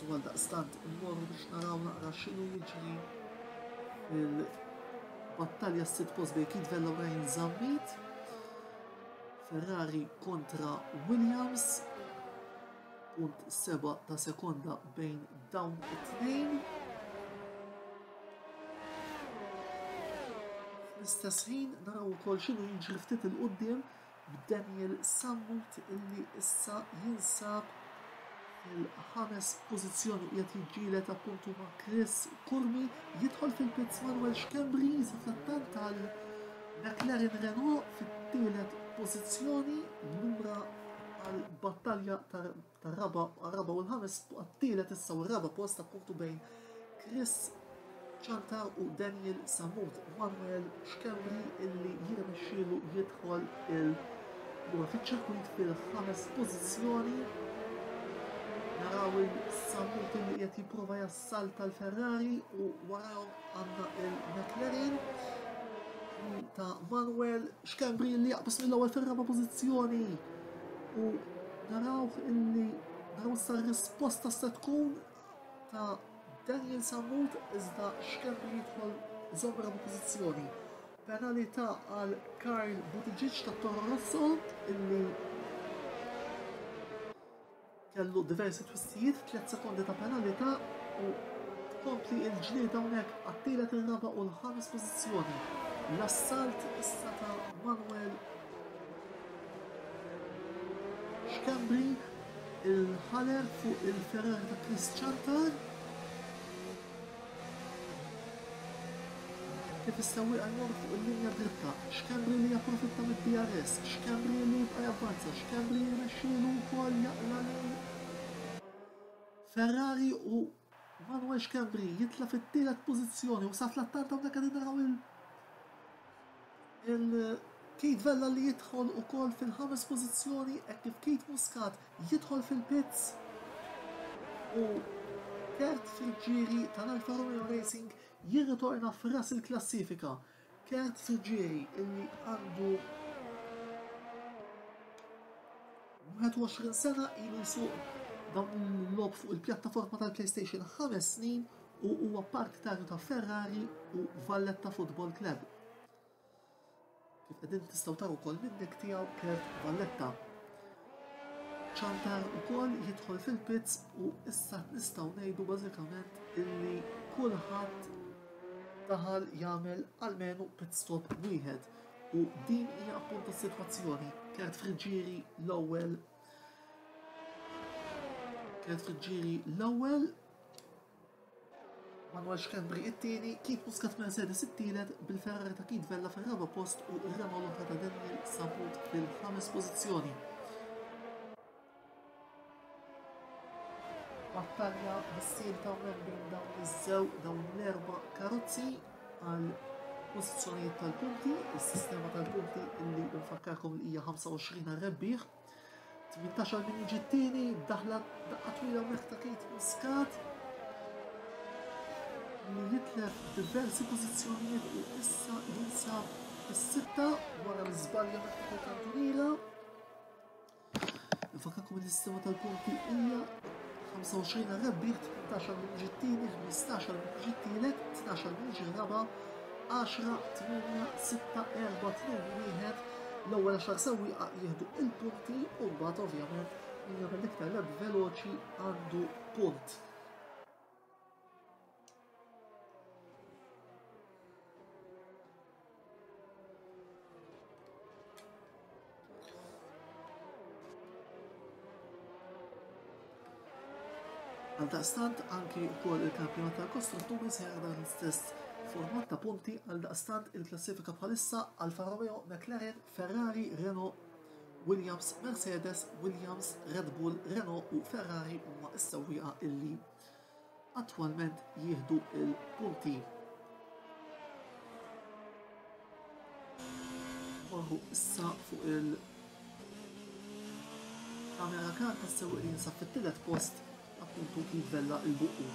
Għal daqstant immorru biex naraw naqra x'inhu jiġri fil-battalja s-sitt post bejn Keith Vella u Ryan Zammit. Ferrari kontra Williams, punt seba ta' sekonda bejn dawn it-tnejn. Fl-istess ħin naraw ukoll x'inhu jiġri ftit il quddiem b'Daniel Sammut illi issa jinsab fil-ħames pożizzjoni u qiegħed jiġġieled appuntu ma' Chris Curmi. Jidħol fil-pits Manuel Schembri fl-attant tal-McLaren Renault fit-tielet pożizzjoni, lura għal-battalja tar-raba' għar-raba' u l-ħames għat-tielet issa u r-raba' post appuntu bejn Chris Ciantar u Daniel Sammut. Manuel Schembri illi jirnexxielu jidħol il-lura fiċ-ċirkwit fil-ħames pożizzjoni. Naraw il-Sammut illi qiegħed jipprova jassalta l-Ferrari u warahom għandna il-McLaren ta' Manuel Schembri li jaqbes mill-ewwel fir-raba' pożizzjoni u naraw illi naraw issa r-risposta se tkun ta' Daniel Sammut, iżda Schembri jidħol iżomm raba' pożizzjoni. Penalità għal Karl Buttigieg ta' Toro Rosso illi kellu diversi twissijiet, tliet sekondi ta' penalità u tkompli l-ġlieda hawnhekk għat-tielet, ir-raba' u l-ħames pożizzjoni. L-assalt issa ta' Manuel Schembri, il-ħaler fuq il-Ferrari ta' Chris Ciantar. Kif is-sewwieqa jmorru fuq il-linja dritta, Schembri li japprofitta mid-D R S, Schembri li jibqa' javvanza, Schembri jirnexxielu wkoll jaqla' lil Ferrari u Manuel Schembri jitla' fit-tielet pożizzjoni u sa fl-attant hawnhekk qegħdin naraw il Keith Vella li jidħol ukoll fil-ħames pożizzjoni hekk kif Keith Muscat jidħol fil-pits u Kurt Friggieri tal-Alfa Romeo Racing jirritorna f'ras il-klassifika. Kurt Friggieri illi għandu wieħed u għoxrin sena ilu jsuq dawn il-logħob fuq il-pjattaforma tal-PlayStation ħames snin u huwa partitarju ta' Ferrari u Valletta Football Club. Kif qegħdin tistgħu taraw ukoll min-nick tiegħu Kurt Valletta. Ciantar ukoll jidħol fil-pits u issa nistgħu ngħidu bażikament illi kulħadd daħal jagħmel almenu pit stop wieħed u din hija appuntu s-sitwazzjoni. Kurt Friggieri l-ewwel, Kurt Friggieri l-ewwel, Manuel Schembri it-tieni, Keith Muscat Mercedes it-tielet, bil-Ferrari ta' Keith Vella fir-raba' post u r-Renault l-oħra ta' Daniel Sammut fil-ħames pożizzjoni. Battalja mis-silta hawnhekk bejn dawn iż-żew dawn l-erba' karozzi għal pożizzjonijiet tal-punti, is-sistema tal-punti illi nfakkarkom li hija ħamsa u għoxrin għar-rebbieħ, tmintax għal min jiġi t-tieni, daħla daqqa twila hawnhekk ta' Keith Muscat li jitlef diversi pożizzjonijiet u issa jinsab is-sitta wara l-iżbalja meta kantuniera. Nfakkarkom li s-sistema tal-punti hija ħamsa u għoxrin għar-rebbieħ, tmintax għal min ġie t-tieni, ħmistax għal min ġie t-tielet, tnax għal min ġie r-raba', għaxra, tmienja, sitta, erba', tnejn, wieħed. L-ewwel għaxar sewwieqa jieħdu il-punti u mbagħad ovvjament min jagħmel l-iktar lap veloċi għandu punt. Għaldaqstant anki wkoll il-kampjonat tal-kostrutturi se jara dan l-istess format ta' punti. Għaldaqstant il-klassifika bħalissa Alfa Romeo, McLaren, Ferrari, Renault, Williams, Mercedes, Williams, Red Bull, Renault u Ferrari huma s-sewwieqa illi attwalment jieħdu il-punti. Morru issa fuq il-kamera kar tas-sewwieq li jinsab fit-tielet post, appuntu kif Vella il-Buqqu.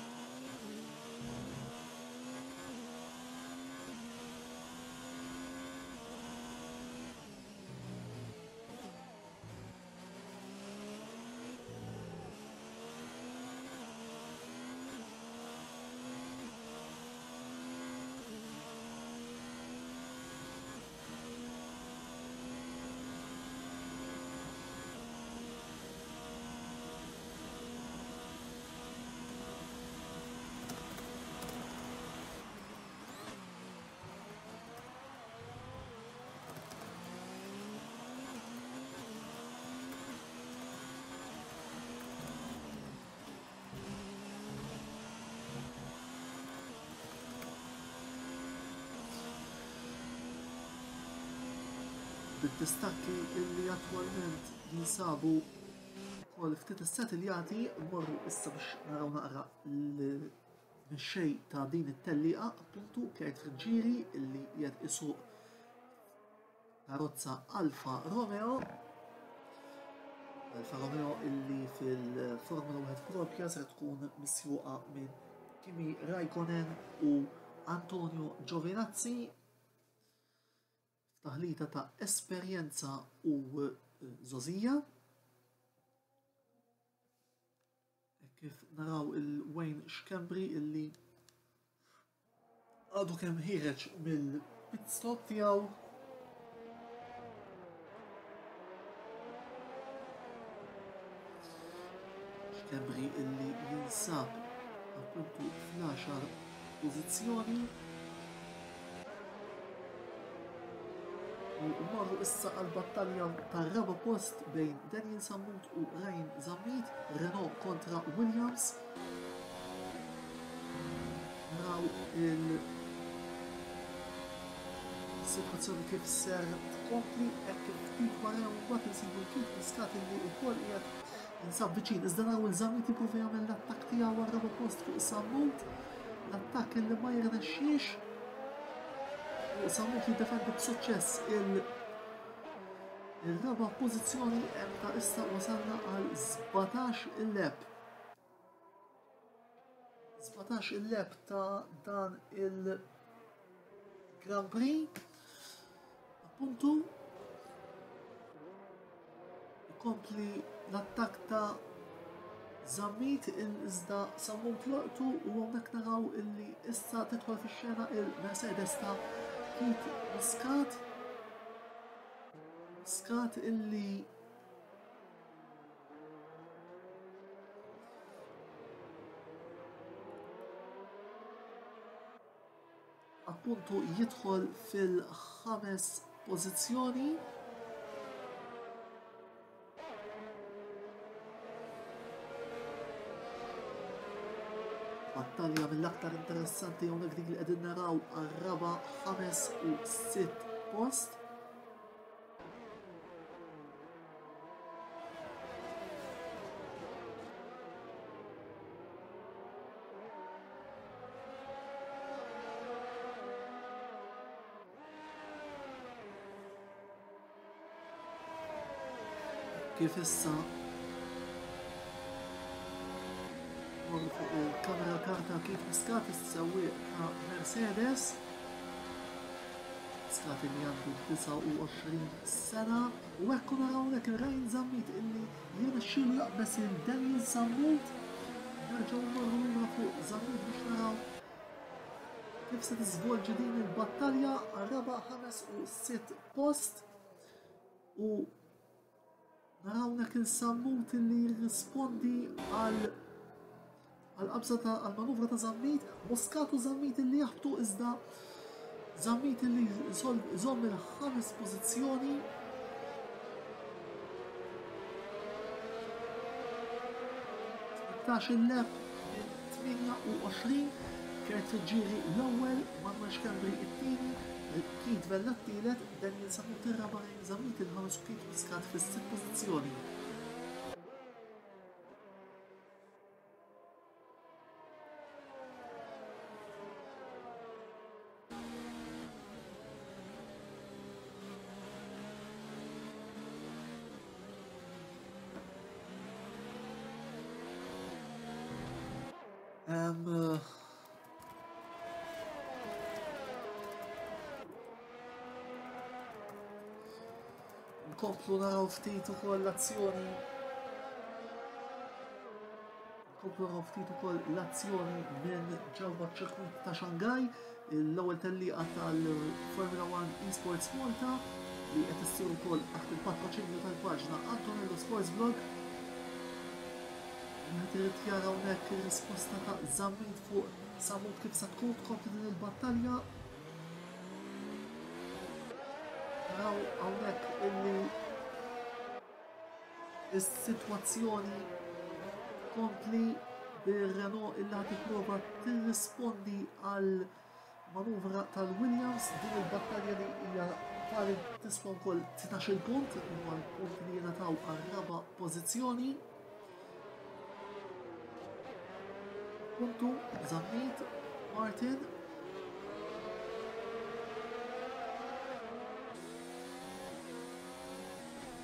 Bid-distakki illi attwalment jinsabu wkoll ftit issettiljati, mmorru issa biex naraw naqra l-mixej ta' din it-tellieqa, appuntu Kurt Friggieri illi qiegħed isuq karozza Alfa Romeo. Alfa Romeo illi fil-Formula wieħed propja ser tkun misjuqa minn Kimi Raikkonen u Antonio Giovinazzi. Taħlita ta' esperjenza u żgħożija. Kif naraw il-Wayne Schembri illi għadu kemm ħireġ mill-pit stop tiegħu. Schembri illi jinsab appuntu fl-għaxar pożizzjoni. U marru issa għal-battalja tar-raba' post bejn Daniel Sammut u Ryan Zammit, Renault kontra Williams. Naraw il-situazzjoni kif ser tkompli, hekk kif ftit wara mbagħad insibu kif Muscat illi wkoll qiegħed jinsab viċin. Iżda naraw il-Zammit jipprova jagħmel l-attakk tiegħu għar-raba' post fuq Sammut, l-attakk illi ma jirnexxiex. Sammut jiddefendi b'suċċess il-raba' pożizzjoni ta' issa wasalna għal sbatax il-lap. Sbatax il-lap ta' dan il-Grand Prix. Appuntu ikompli l-attakk ta' Zammit iżda Sammut loqtu u hawnhekk naraw illi issa tidħol fix-xena il-Mercedes ta' Keith Muscat. Muscat illi appuntu jidħol fil-ħames pożizzjoni. Battalja mill-aktar interessanti hawnhekk dik li qegħdin naraw għar-raba', ħames u sitt post. Kif issa morru fuq il-kamera karta kif Muscat is-sewwieq ta' Mercedes. Muscat li għandu disgħa u għoxrin sena u hekk naraw hawnhekk Ryan Zammit illi jirnexxielu jaqbeż il Daniel Sammut. Nerġgħu mmorru lura fuq Zammit biex naraw kif se tiżvolġi din il-battalja għar-raba', ħames u sitt post u naraw hawnhekk il-Sammut illi jirrispondi għal għal-qabża ta' għal-manuvra ta' Zammit, Muscat u Zammit illi jaħbtu iżda Zammit illi jżomm il-ħames pożizzjoni. Tmintax il-lap minn tmienja u għoxrin, Kurt Friggieri l-ewwel, Manuel Schembri it-tieni, Keith Vella t-tielet, Daniel Sammut ir-raba', Ryan Zammit il-ħames u Keith Muscat fis-sitt pożizzjoni. Um, nkomplu naraw ftit ukoll l-azzjoni. Nkomplu naraw ftit ukoll l-azzjoni minn ġewwa ċ-ċirkwit ta' Shanghai, l-ewwel tellieqa tal-Formula One Esports Malta li qed issir ukoll taħt il-patroċinju tal-paġna Antonello Sports Blog. Wieħed irid jara hawnhekk ir-risposta ta' Zammit fuq Sammut kif se tkun tkompli din il-battalja. Naraw hawnhekk illi is-sitwazzjoni tkompli bir-Renault illi ħad tipprova tirrispondi għal manuvra tal-Williams. Din il-battalja li hija tali tiswa wkoll tnax-il punt, huwa l-punt li jingħataw għar-raba' pożizzjoni. Puntu Zammit, Martin.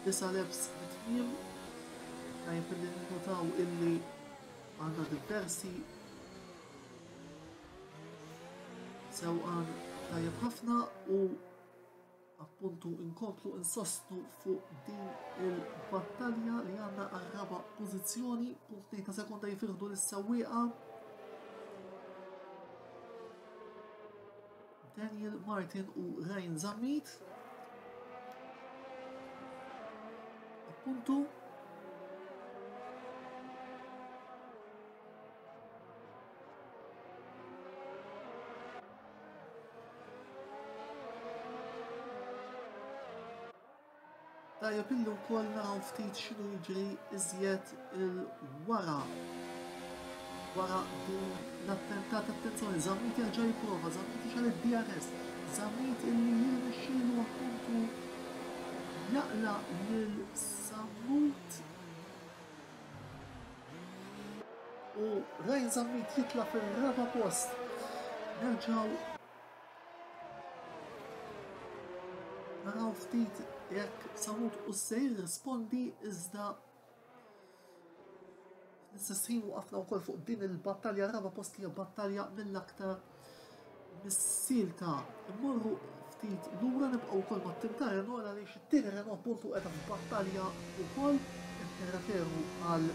Disa' laps mit-tmiem. Tajjeb illi ninnotaw illi għandna diversi sewqan tajjeb ħafna u appuntu inkomplu insostnu fuq din il-battalja li għandna għar-raba' pożizzjoni. Punt tnejn ta' sekonda jifirħdu lis-sewwieqa. Daniel Martin u Ryan Zammit. Appuntu tajjeb illi wkoll naraw ftit x'inhu jiġri iżjed il-wara. Wara din l-attentat, attenzjoni, Zammit jerġa' jipprova, Zammit jixgħel id-D R S, Zammit illi jirnexxielu appuntu jaqla' lil Sammut u Ryan Zammit jitla' fir-raba' post. Nerġgħu naraw ftit jekk Sammut u se jirrispondi iżda fl-istess ħin waqafna wkoll fuq din il-battalja raba' post li hija battalja mill-aktar mis-silta. Immorru ftit lura nibqgħu wkoll mat-tim ta' Renault għaliex it-tieni Renault appuntu qiegħda f'battalja wkoll, qed nirreferu għal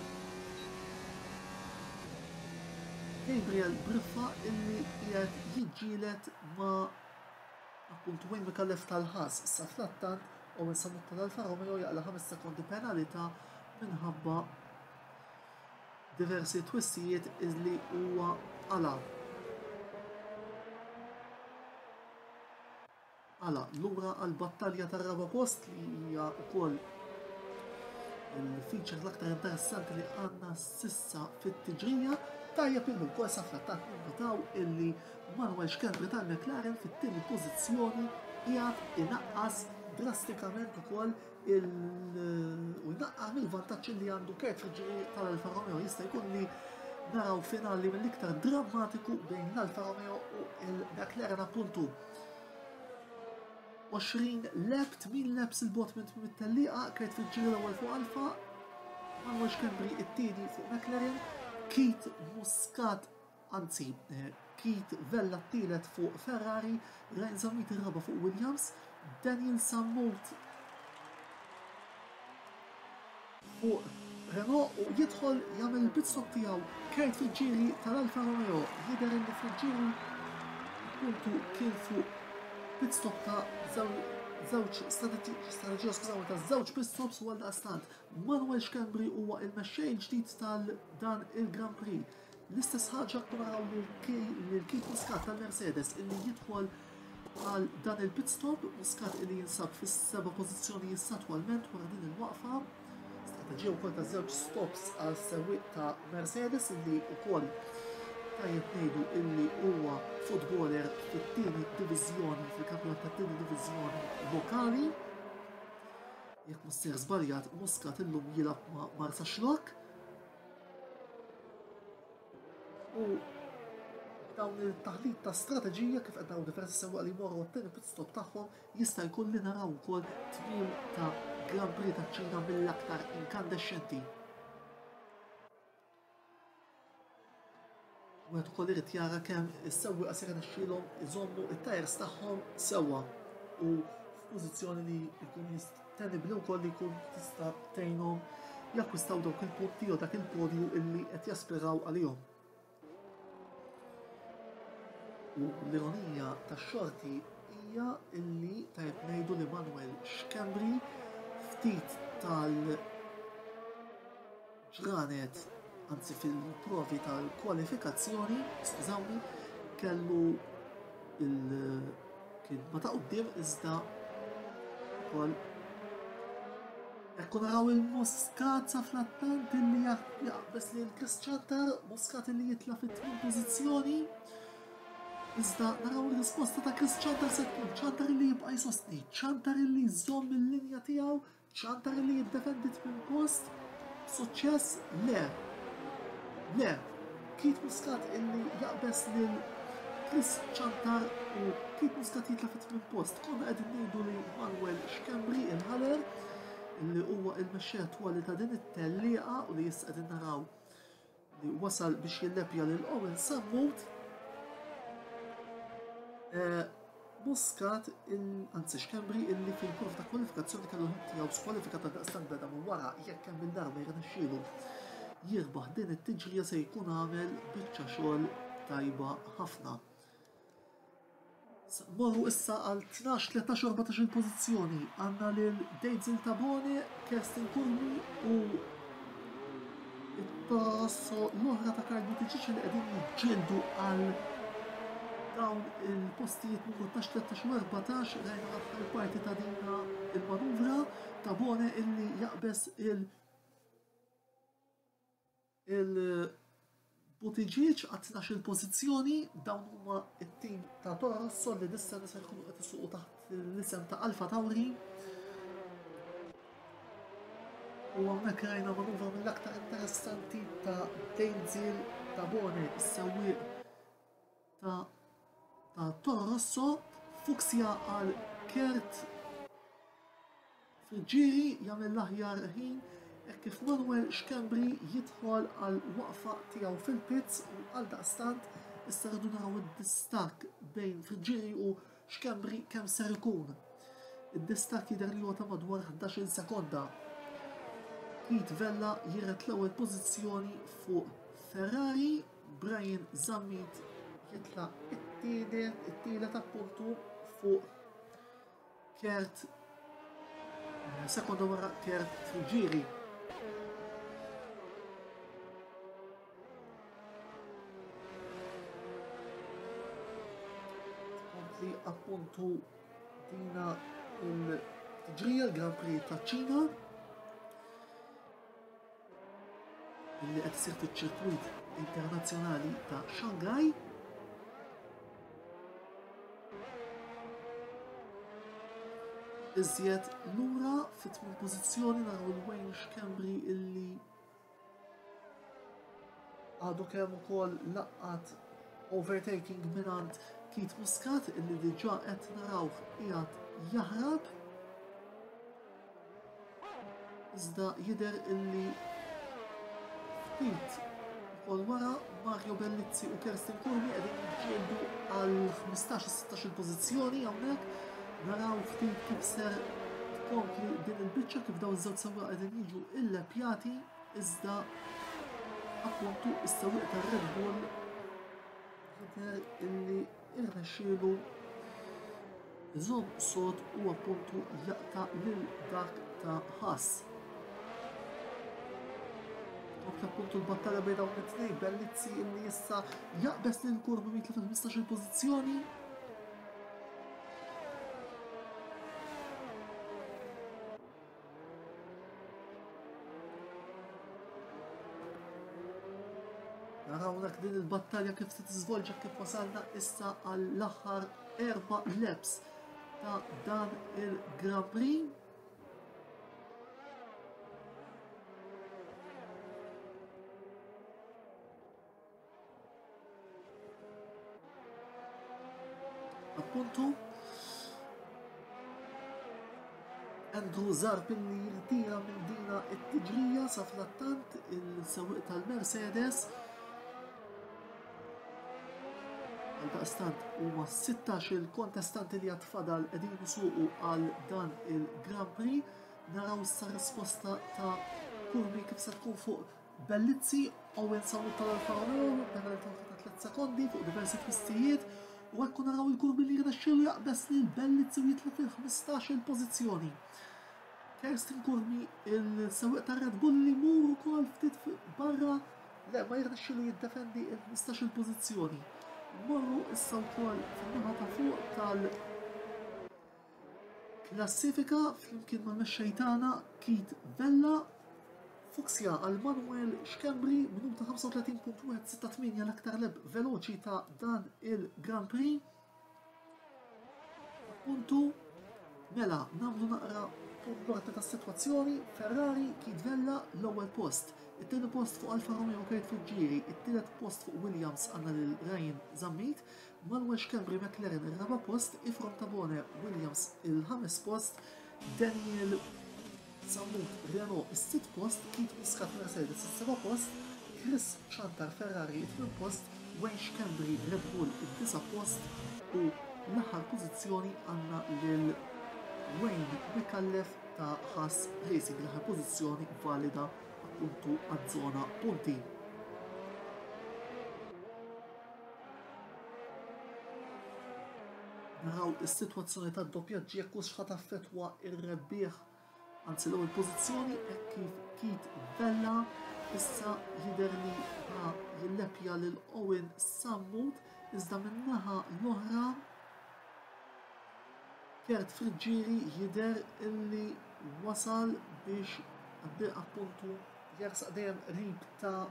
Gabriel Briffa illi qiegħed jiġġieled ma' appuntu Wayne Micallef tal-Ħas. Issa fl-attant Owen Sammut tal-Alfa Romeo jaqla' ħames sekondi penalità minħabba diversi twissijiet illi huwa qala'. Qala' lura għall-battalja tar-raba' post li hija wkoll il-feature l-aktar interessanti li għandna sissa fit-tiġrija. Tajjeb illi wkoll sa fl-attakk ninnotaw illi Manuel Schembri tal-McLaren fit-tieni pożizzjoni qiegħed inaqqas drastikament ukoll il u jnaqqar mill-vantaġġ li għandu Kurt Friggieri tal-Alfa Romeo. Jista' jkun li naraw finali mill-iktar drammatiku bejn l-Alfa Romeo u l-McLaren appuntu. għoxrin lap, tmien laps il-bot minn tmiem it-tellieqa, Kurt Friggieri l-ewwel fuq Alfa, Manuel Schembri it-tieni fuq McLaren, Keith Muscat, anzi, eh, Keith Vella t-tielet fuq Ferrari, Ryan Zammit ir-raba' fuq Williams, Daniel Sammut fuq Renault u jidħol jagħmel il-pit stop tiegħu Kurt Friggieri tal-Alfa Romeo. Jidher li Friggieri appuntu kien fuq pit stop ta' żewġ strateġija, skużawni, ta' żewġ pit stops u għaldaqstant Manuel Schembri huwa il-mexxej il-ġdid tal-dan il-Grand Prix. L-istess ħaġa naraw lil Keith Muscat tal-Mercedes illi jidħol għal dan il-pit stop, Muscat illi jinsab fis-seba' pożizzjoni issa attwalment wara din il-waqfa. Strateġija wkoll ta' żewġ stops għal sewwieq ta' Mercedes illi wkoll tajjeb ngħidu illi huwa footballer fit-tieni diviżjoni, fil-kampjonat tat-tieni diviżjoni lokali. Jekk mhux sejr żbaljat, Muscat illum jilgħab ma' Marsaxlokk. U dawn il-taħlit ta' strateġija kif qed naraw diversi sewwieqa li jmorru għat-tieni pit stop tagħhom, jista' jkun li naraw ukoll tmiem ta' Grand Prix taċ-Ċina mill-aktar inkandexxenti. Wieħed ukoll irid jara kemm is-sewwieqa se jirnexxielhom iżommu it-tajers tagħhom sewwa u f'pożizzjoni li jkun tenibbli wkoll li jkun tista' tgħinhom jakkwistaw dawk il-punti jew dak il-podju illi qed jaspiraw għalihom. U l-ironija tax-xorti hija illi tajjeb ngħidu li Manuel Schembri ftit tal-ġranet, anzi fil-provi tal-kwalifikazzjoni, skużawni, kellu il kien ma ta' quddiem iżda wkoll hekk naraw il-Muscat sa fl-attant illi jaqbeż lil Chris Ciantar, Muscat illi jitla' fit-tmien pożizzjoni. Iżda naraw ir-risposta ta' Chris Ciantar se tkun Ciantar illi jibqa' jsostni, Ciantar illi jżomm il-linja tiegħu, Ciantar illi jiddefendi tmien post. Suċċess le. Le, Keith Muscat illi jaqbeż lil Chris Ciantar u Keith Muscat jitla' fit-tmien post. Konna qegħdin ngħidu li Manuel Schembri il-ħaler illi huwa il-mexxej attwali ta' din it-tellieqa u li issa qegħdin naraw li wasal biex jillepja lil Owen Sammut. Muscat, anzi Schembri illi fil-prova ta' kwalifikazzjoni kellu ħin tiegħu skwalifikat għal daqstant beda minn wara, jekk hemm il-darba jirnexxielu jirbaħ din it-tiġrija se jkun għamel biċċa xogħol tajba ħafna. Morru issa għal tnax, tlettax u erbatax il-pożizzjoni. Għandna lil Dejzil Tabone, Kerstin Curmi u it-Toro Rosso l-oħra ta' Karl Buttigieg li qegħdin jiġġieldu għal dawn il-postijiet numru tnax, tlettax u erbatax. Rajna l-aħħar parti ta' dina il-manuvra Tabone illi jaqbeż il- il-Buttigieg għat tnax il-pożizzjoni. Dawn huma it-tim ta' Toro Rosso li dis-sena se jkunu qed isuqu taħt l-isem ta' Alfa Tauri. U hawnhekk rajna manuvra mill-aktar interessanti ta' Dejzil Tabone, is-sewwieq ta' ta' Toro Rosso. Fuksja għal Kurt Friggieri jagħmel l-aħjar ħin hekk kif Manuel Schembri jidħol għal waqfa tiegħu fil-pits u għal daqstant issa rridu naraw id-distakk bejn Friggieri u Schembri kemm ser ikun. Id-distakk jidher li huwa ta' madwar ħdax-il sekonda. Keith Vella jiret l-ewwel pożizzjoni fuq Ferrari, Brian Zammit jitla' it-tielet, it-tielet appuntu fuq Kurt, sekonda wara Kurt Friggieri. Tkompli appuntu dina il-tiġrija l-Grand Prix ta' Ċina illi qed isir fiċ-ċirkwit internazzjonali ta' Shanghai. Iżjed lura fit-tmien pożizzjoni naraw il-Wayne Schembri illi għadu kemm ukoll laqat overtaking mingħand Keith Muscat illi diġà qed narawh qiegħed jaħrab. Iżda jidher illi ftit Ukoll wara Mario Bellizzi u Kerstin Curmi qegħdin jiġġieldu għal ħmistax u sittax il-pożizzjoni hawnhekk. Naraw ftit kif ser tkompli din il-biċċa, kif dawn iż-żewġ sewwieqa qegħdin jiġu illepjati, iżda appuntu is-sewwieq tar-Red Bull jidher illi irnexxielu iżomm sod u appuntu jaqta' lil dak ta' Haas. Kompli appuntu l-battalja bejn dawn it-tnejn, Bellizzi illi issa jaqbeż lil Curmi mitla fil-ħmistax il-pożizzjoni. Naraw hawnhekk din il-battalja kif se tiżvolġa, kif wasalna issa għall-aħħar erba' laps ta' dan il-Grand Prix. Appuntu Andrew Zarb illi jirtira minn dina it-tiġrija sa frattant il-sewwieq tal-Mercedes. Għaldaqstant huma sittax il-kontestanti li għad fadal qegħdin isuqu għal dan il-Grand Prix. Naraw issa risposta ta' Curmi kif se tkun fuq Bellizzi. Owen Sammut tal-Alfa Romeo, penalità ta' tliet sekondi fuq diversi twistijiet, u hekk naraw il-Curmi li jirnexxielu jaqbeż lil Bellizzi u jitla' fil-ħmistax il-pożizzjoni. Kerstin Curmi, il-sewwieq tar-Red Bull li jmur ukoll ftit barra, le ma jirnexxielu jiddefendi il-ħmistax il-pożizzjoni. Morru issa wkoll fin-naħa ta' fuq tal-klassifika flimkien mal-mexxej tagħna Keith Vella. Fuxja għal Manuel Schembri, minuta ħamsa u tletin punt wieħed sitta tmienja l-aktar leb veloċi ta' dan il-Grand Prix. Appuntu, mela nagħmlu naqra punt ta' sitwazzjoni. Ferrari, Keith Vella l-ewwel post, it-tieni post fuq Alfa Romeo Kurt Friggieri, it-tielet post fuq Williams għandna lil Ryan Zammit, Manuel Schembri McLaren ir-raba' post, Ifrom Tabone Williams il-ħames post, Daniel Sammut Renault is-sitt post, Keith Muscat Mercedes is-seba' post, Chris Chantar Ferrari it-tmien post, Wayne Schembri Red Bull id-disa' post u l-aħħar pożizzjoni għandna lil Wayne Micallef ta' Haas Racing, l-aħħar pożizzjoni valida appuntu għaż-żona punti. Naraw is-sitwazzjoni tad-doppjaġġi jekk hux ħa taffettwa r-rebbieħ, anzi l-ewwel pożizzjoni, hekk kif Keith Vella issa jidher li ħa jilleppja lil Owen Sammut, iżda min-naħa l-oħra Kurt Friggieri jidher illi wasal biex appuntu jersaq dejjem qrib ta'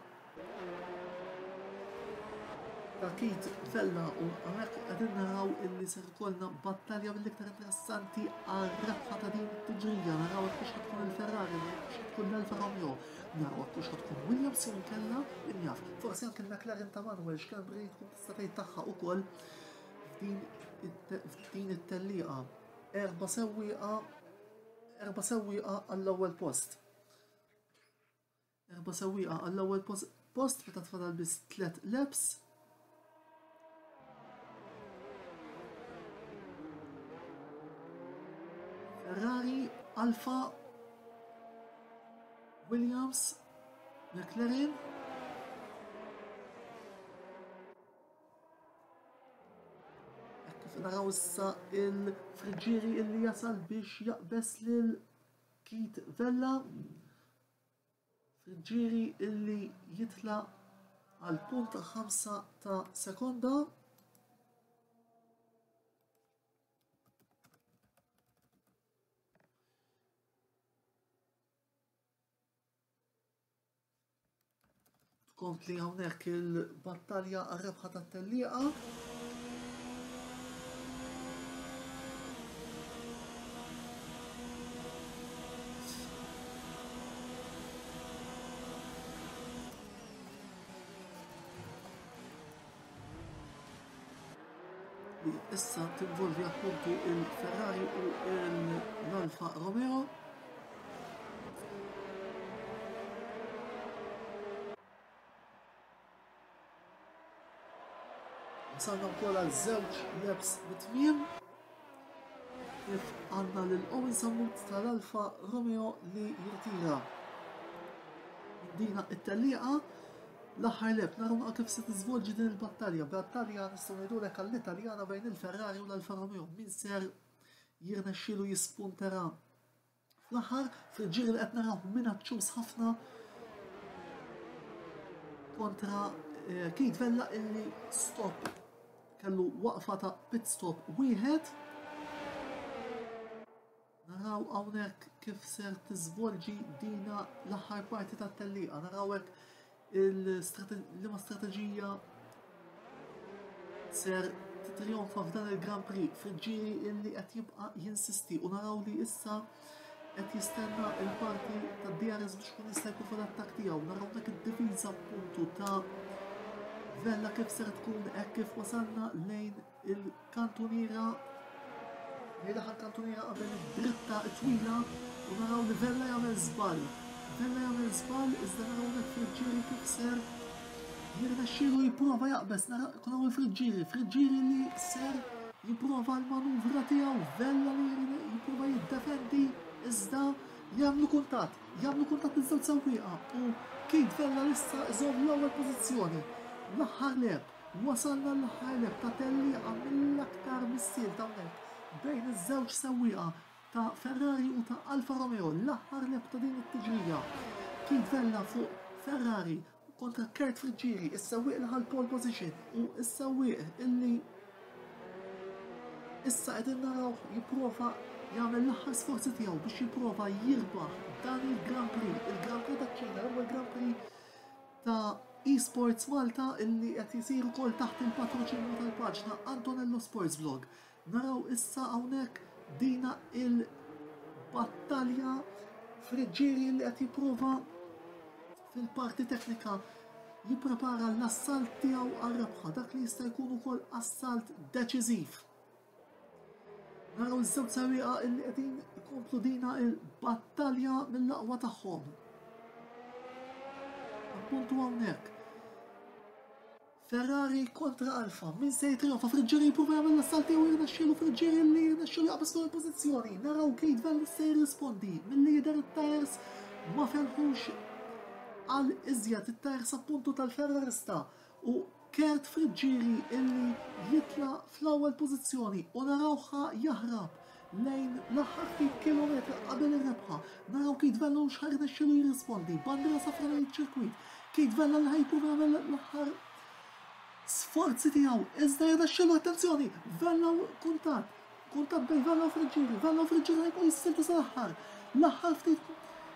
ta' Keith Vella, u hawnhekk qegħdin naraw illi ser ikollna battalja mill-iktar interessanti għar-rebħa ta' din it-tiġrija. Naraw hekk hux tkun il-Ferrari, naraw hekk hux tkun l-Alfa Romeo, naraw hekk hux tkun Williams jew inkella min jaf, forsi anke l-McLaren ta' Manuel Schembri tkun tista' tgħid tagħha ukoll f'din it-te-, f'din it-tellieqa. Erba' sewwieqa, erba' sewwieqa għall-ewwel post. Erba' sewwieqa għall-ewwel pos-, post meta tfadal biss tliet laps. Ferrari, Alfa, Williams, McLaren. Hekk kif naraw issa il-Friggieri illi jasal biex jaqbeż lil Keith Vella. Friggieri illi jitla' għal punt ħamsa ta' sekonda. Tkompli hawnhekk il-battalja għar-rebħa tat-tellieqa. Li issa tinvolvi appuntu il-Ferrari u l-Alfa Romeo. Wasalna wkoll għal żewġ laps mit-tmiem. Kif għandna lil Owen Sammut tal-Alfa Romeo li jirtira dina it-tellieqa. L-aħħar lap, naraw kif se tiżvolġi din il-battalja. Battalja nistgħu ngħidulek għall-Italjana bejn il-Ferrari u l-Alfa Romeo. Min ser jirnexxielu jispuntera fl-aħħar fil-ġiri li qed naraw minaċċuż ħafna kontra Keith Vella illi stop kellu waqfa ta' pit stop wieħed. Naraw hawnhekk kif ser tiżvolġi dina l-aħħar parti tat-tellieqa. Naraw hekk liema strateġija ser titrionfa f'dan il-Grand Prix fil-ġiri illi qed jibqa' jinsisti u naraw li issa qed jistenna il-parti tad-D R S biex kun jista' jkun fl-attakk tiegħu. Naraw dak id-difiża appuntu ta' Vella kif ser tkun hekk kif wasalna lejn il-kantuniera, lejn l-aħħar kantuniera qabel id-dritta twila u naraw li Vella jagħmel żball. Vella jagħmel żball iżda naraw hekk Friggieri kif ser jirnexxielu jipprova jaqbeż. Naraw il-Friggieri, Friggieri li ser jipprova l-manuvra tiegħu, Vella li jipprova jiddefendi iżda jagħmlu kuntatt, jagħmlu kuntatt iż-żewġ sewwieqa u Keith Vella issa iżomm l-ewwel pożizzjoni. L-aħħar lap, wasalna l-aħħar lap ta' tellieqa mill-aktar missiel ta' hawnhekk bejn iż-żewġ sewwieqa ta' Ferrari u ta' Alfa Romeo, l-aħħar lap ta' din it-tiġrija. Keith Vella fuq Ferrari kontra Kurt Friggieri, is-sewwieq li ħa l-pole position u s-sewwieq illi issa qegħdin naraw jipprova jagħmel l-aħħar sforzi tiegħu biex jipprova jirbaħ dan il-Grand Prix, il-Grand Prix taċ-Ċina, l-ewwel Grand Prix ta' eSports Malta illi qed isir ukoll taħt il-patroċinju tal-paġna Antonello Sports Vlog. Naraw issa hawnhekk dina il-battalja Friggieri li qed jipprova fil-parti teknika jipprepara l-assalt tiegħu għar-rebħa, dak li jista' jkun ukoll assalt deċiżiv. Naraw iż-żewġ sewwieqa illi qegħdin ikomplu dina il-battalja mill-aqwa tagħhom. Appuntu hawnhekk Ferrari kontra Alfa, min se jitrionfa? Friggieri jipprova jagħmel l-assalt tiegħu, jirnexxielu Friggieri li jirnexxielu jaqbeż fuq il-pożizzjoni. Naraw Keith Vella se jirrispondi milli jidher it-tires ma felħux għal iżjed it-tires appuntu tal-Ferrarista u Kurt Friggieri illi jitla fl-ewwel pożizzjoni u narawha jaħrab lejn l-aħħar ftit kilometri qabel ir-rebħa. Naraw Keith Vella u x'ħa jirnexxielu jirrispondi. Bandiera safra lejn iċ-ċirkwit. Keith Vella li ħajpruva jagħmel l-aħħar sforzi tiegħu, iżda jirnexxielu, attenzjoni, Vella u kuntatt, kuntatt bejn Vella u Friggieri, Vella u Friggieri ħajbqgħu jissiltu sal-aħħar, l-aħħar ftit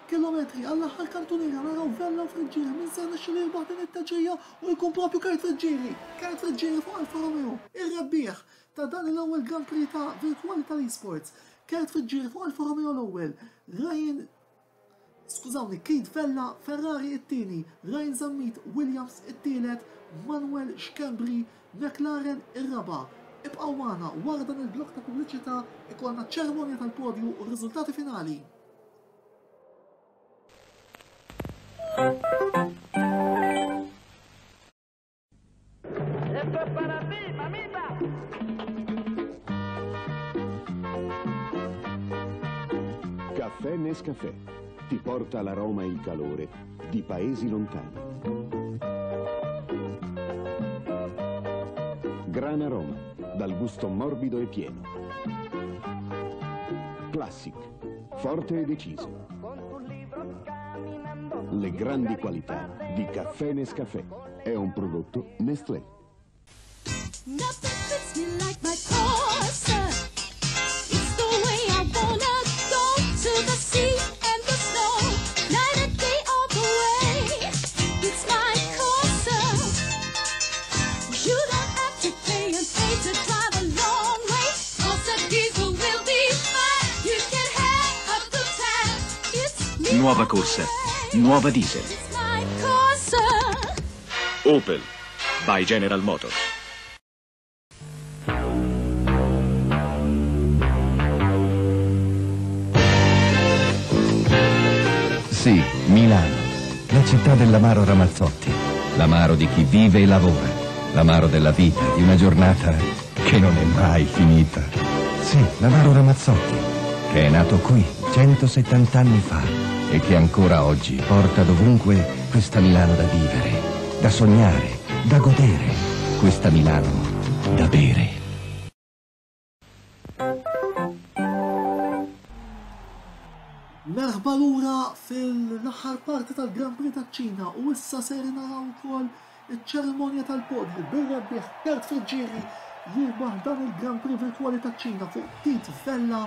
kilometri għall-aħħar kantuniera, naraw Vella u Friggieri min se jirnexxielu jirbaħ din it-teġrija u jkun propju Kurt Friggieri, Kurt Friggieri fuq Alfa Romeo, ir-rebbieħ ta' dan l-ewwel Grand Prix ta' virtuali tal-eSports. Kurt Friggieri fuq Alfa Romeo l-ewwel, Ryan, skużawni, Keith Vella, Ferrari it-tieni, Ryan Zammit, Williams it-tielet, Manuel Schembri, McLaren ir-raba'. Ibqgħu magħna wara dan il-blok ta' pubbliċità ikollna ċerimonja tal-podju u r-riżultati finali. Esto es para ti, mamita. Caffè Nescafè ti porta l'aroma e il calore di paesi lontani. Gran aroma, dal gusto morbido e pieno. Classic, forte e deciso. Le grandi qualità di Caffè Nescafè. È un prodotto Nestlé. Nothing fits me like my Corsa. It's the way I wanna go to the sea and the snow. Night and day all the way. It's my Corsa. You don't have to pay and pay to drive a long way. Corsa diesel will be fine. You can have a good time. It's me. Nuova Corsa, nuova diesel. It's my Corsa. Opel by General Motors. Sì, Milano, la città dell'amaro Ramazzotti, l'amaro di chi vive e lavora, L'amaro della vita, di una giornata che non è mai finita. Sì, l'amaro Ramazzotti, che è nato qui centosettanta anni fa e che ancora oggi porta dovunque questa Milano da vivere, da sognare, da godere, questa Milano da bere. Merħba lura fil-aħħar parti tal-Grand Prix taċ-Ċina u issa ser naraw ukoll iċ-ċerimonja tal-podju bir-rebbieħ Kurt Friggieri jirbaħ dan il-Grand Prix virtwali taċ-Ċina fuq Keith Vella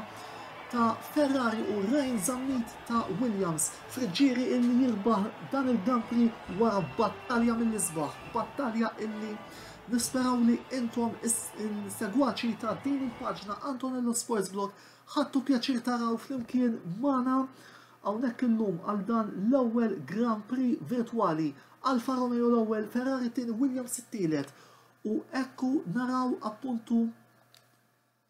ta' Ferrari u Ryan Zammit ta' Williams. Friggieri illi jirbaħ dan il-Grand Prix wara battalja mill-isbaħ, battalja illi nisperaw li intom is-segwaċi ta' din il-paġna Antonello Sports Blog ħadtu pjaċir taraw flimkien magħna hawnhekk illum għal dan l-ewwel Grand Prix virtwali. Alfa Romeo l-ewwel, Ferrari t-tieni, Williams it-tielet. U ekku naraw appuntu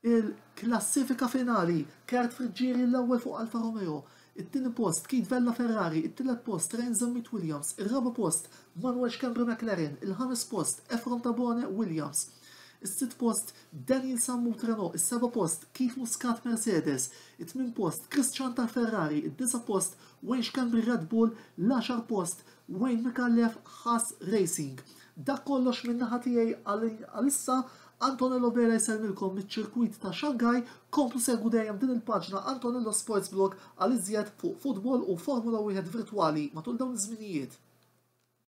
il-klassifika finali. Kurt Friggieri l-ewwel fuq Alfa Romeo, it-tieni post Keith Vella Ferrari, it-tielet post Ryan Zammit Williams, ir-raba' post Manuel Schembri McLaren, il-ħames post Efron Tabone Williams, is-sitt post Daniel Sammut Renault, is-seba' post Keith Muscat Mercedes, it-tmien post Chris Ciantar Ferrari, id-disa' post Wayne Schembri Red Bull, l-għaxar post Wayne Micallef Haas Racing. Dak kollox minn naħa tiegħi għalissa. Antonello Vela jsellmilkom miċ-ċirkwit ta' Shanghai. Komplu segwu dejjem din il-paġna Antonello Sports Blog għal iżjed fuq futbol u Formula wieħed virtwali matul dawn iż-żminijiet.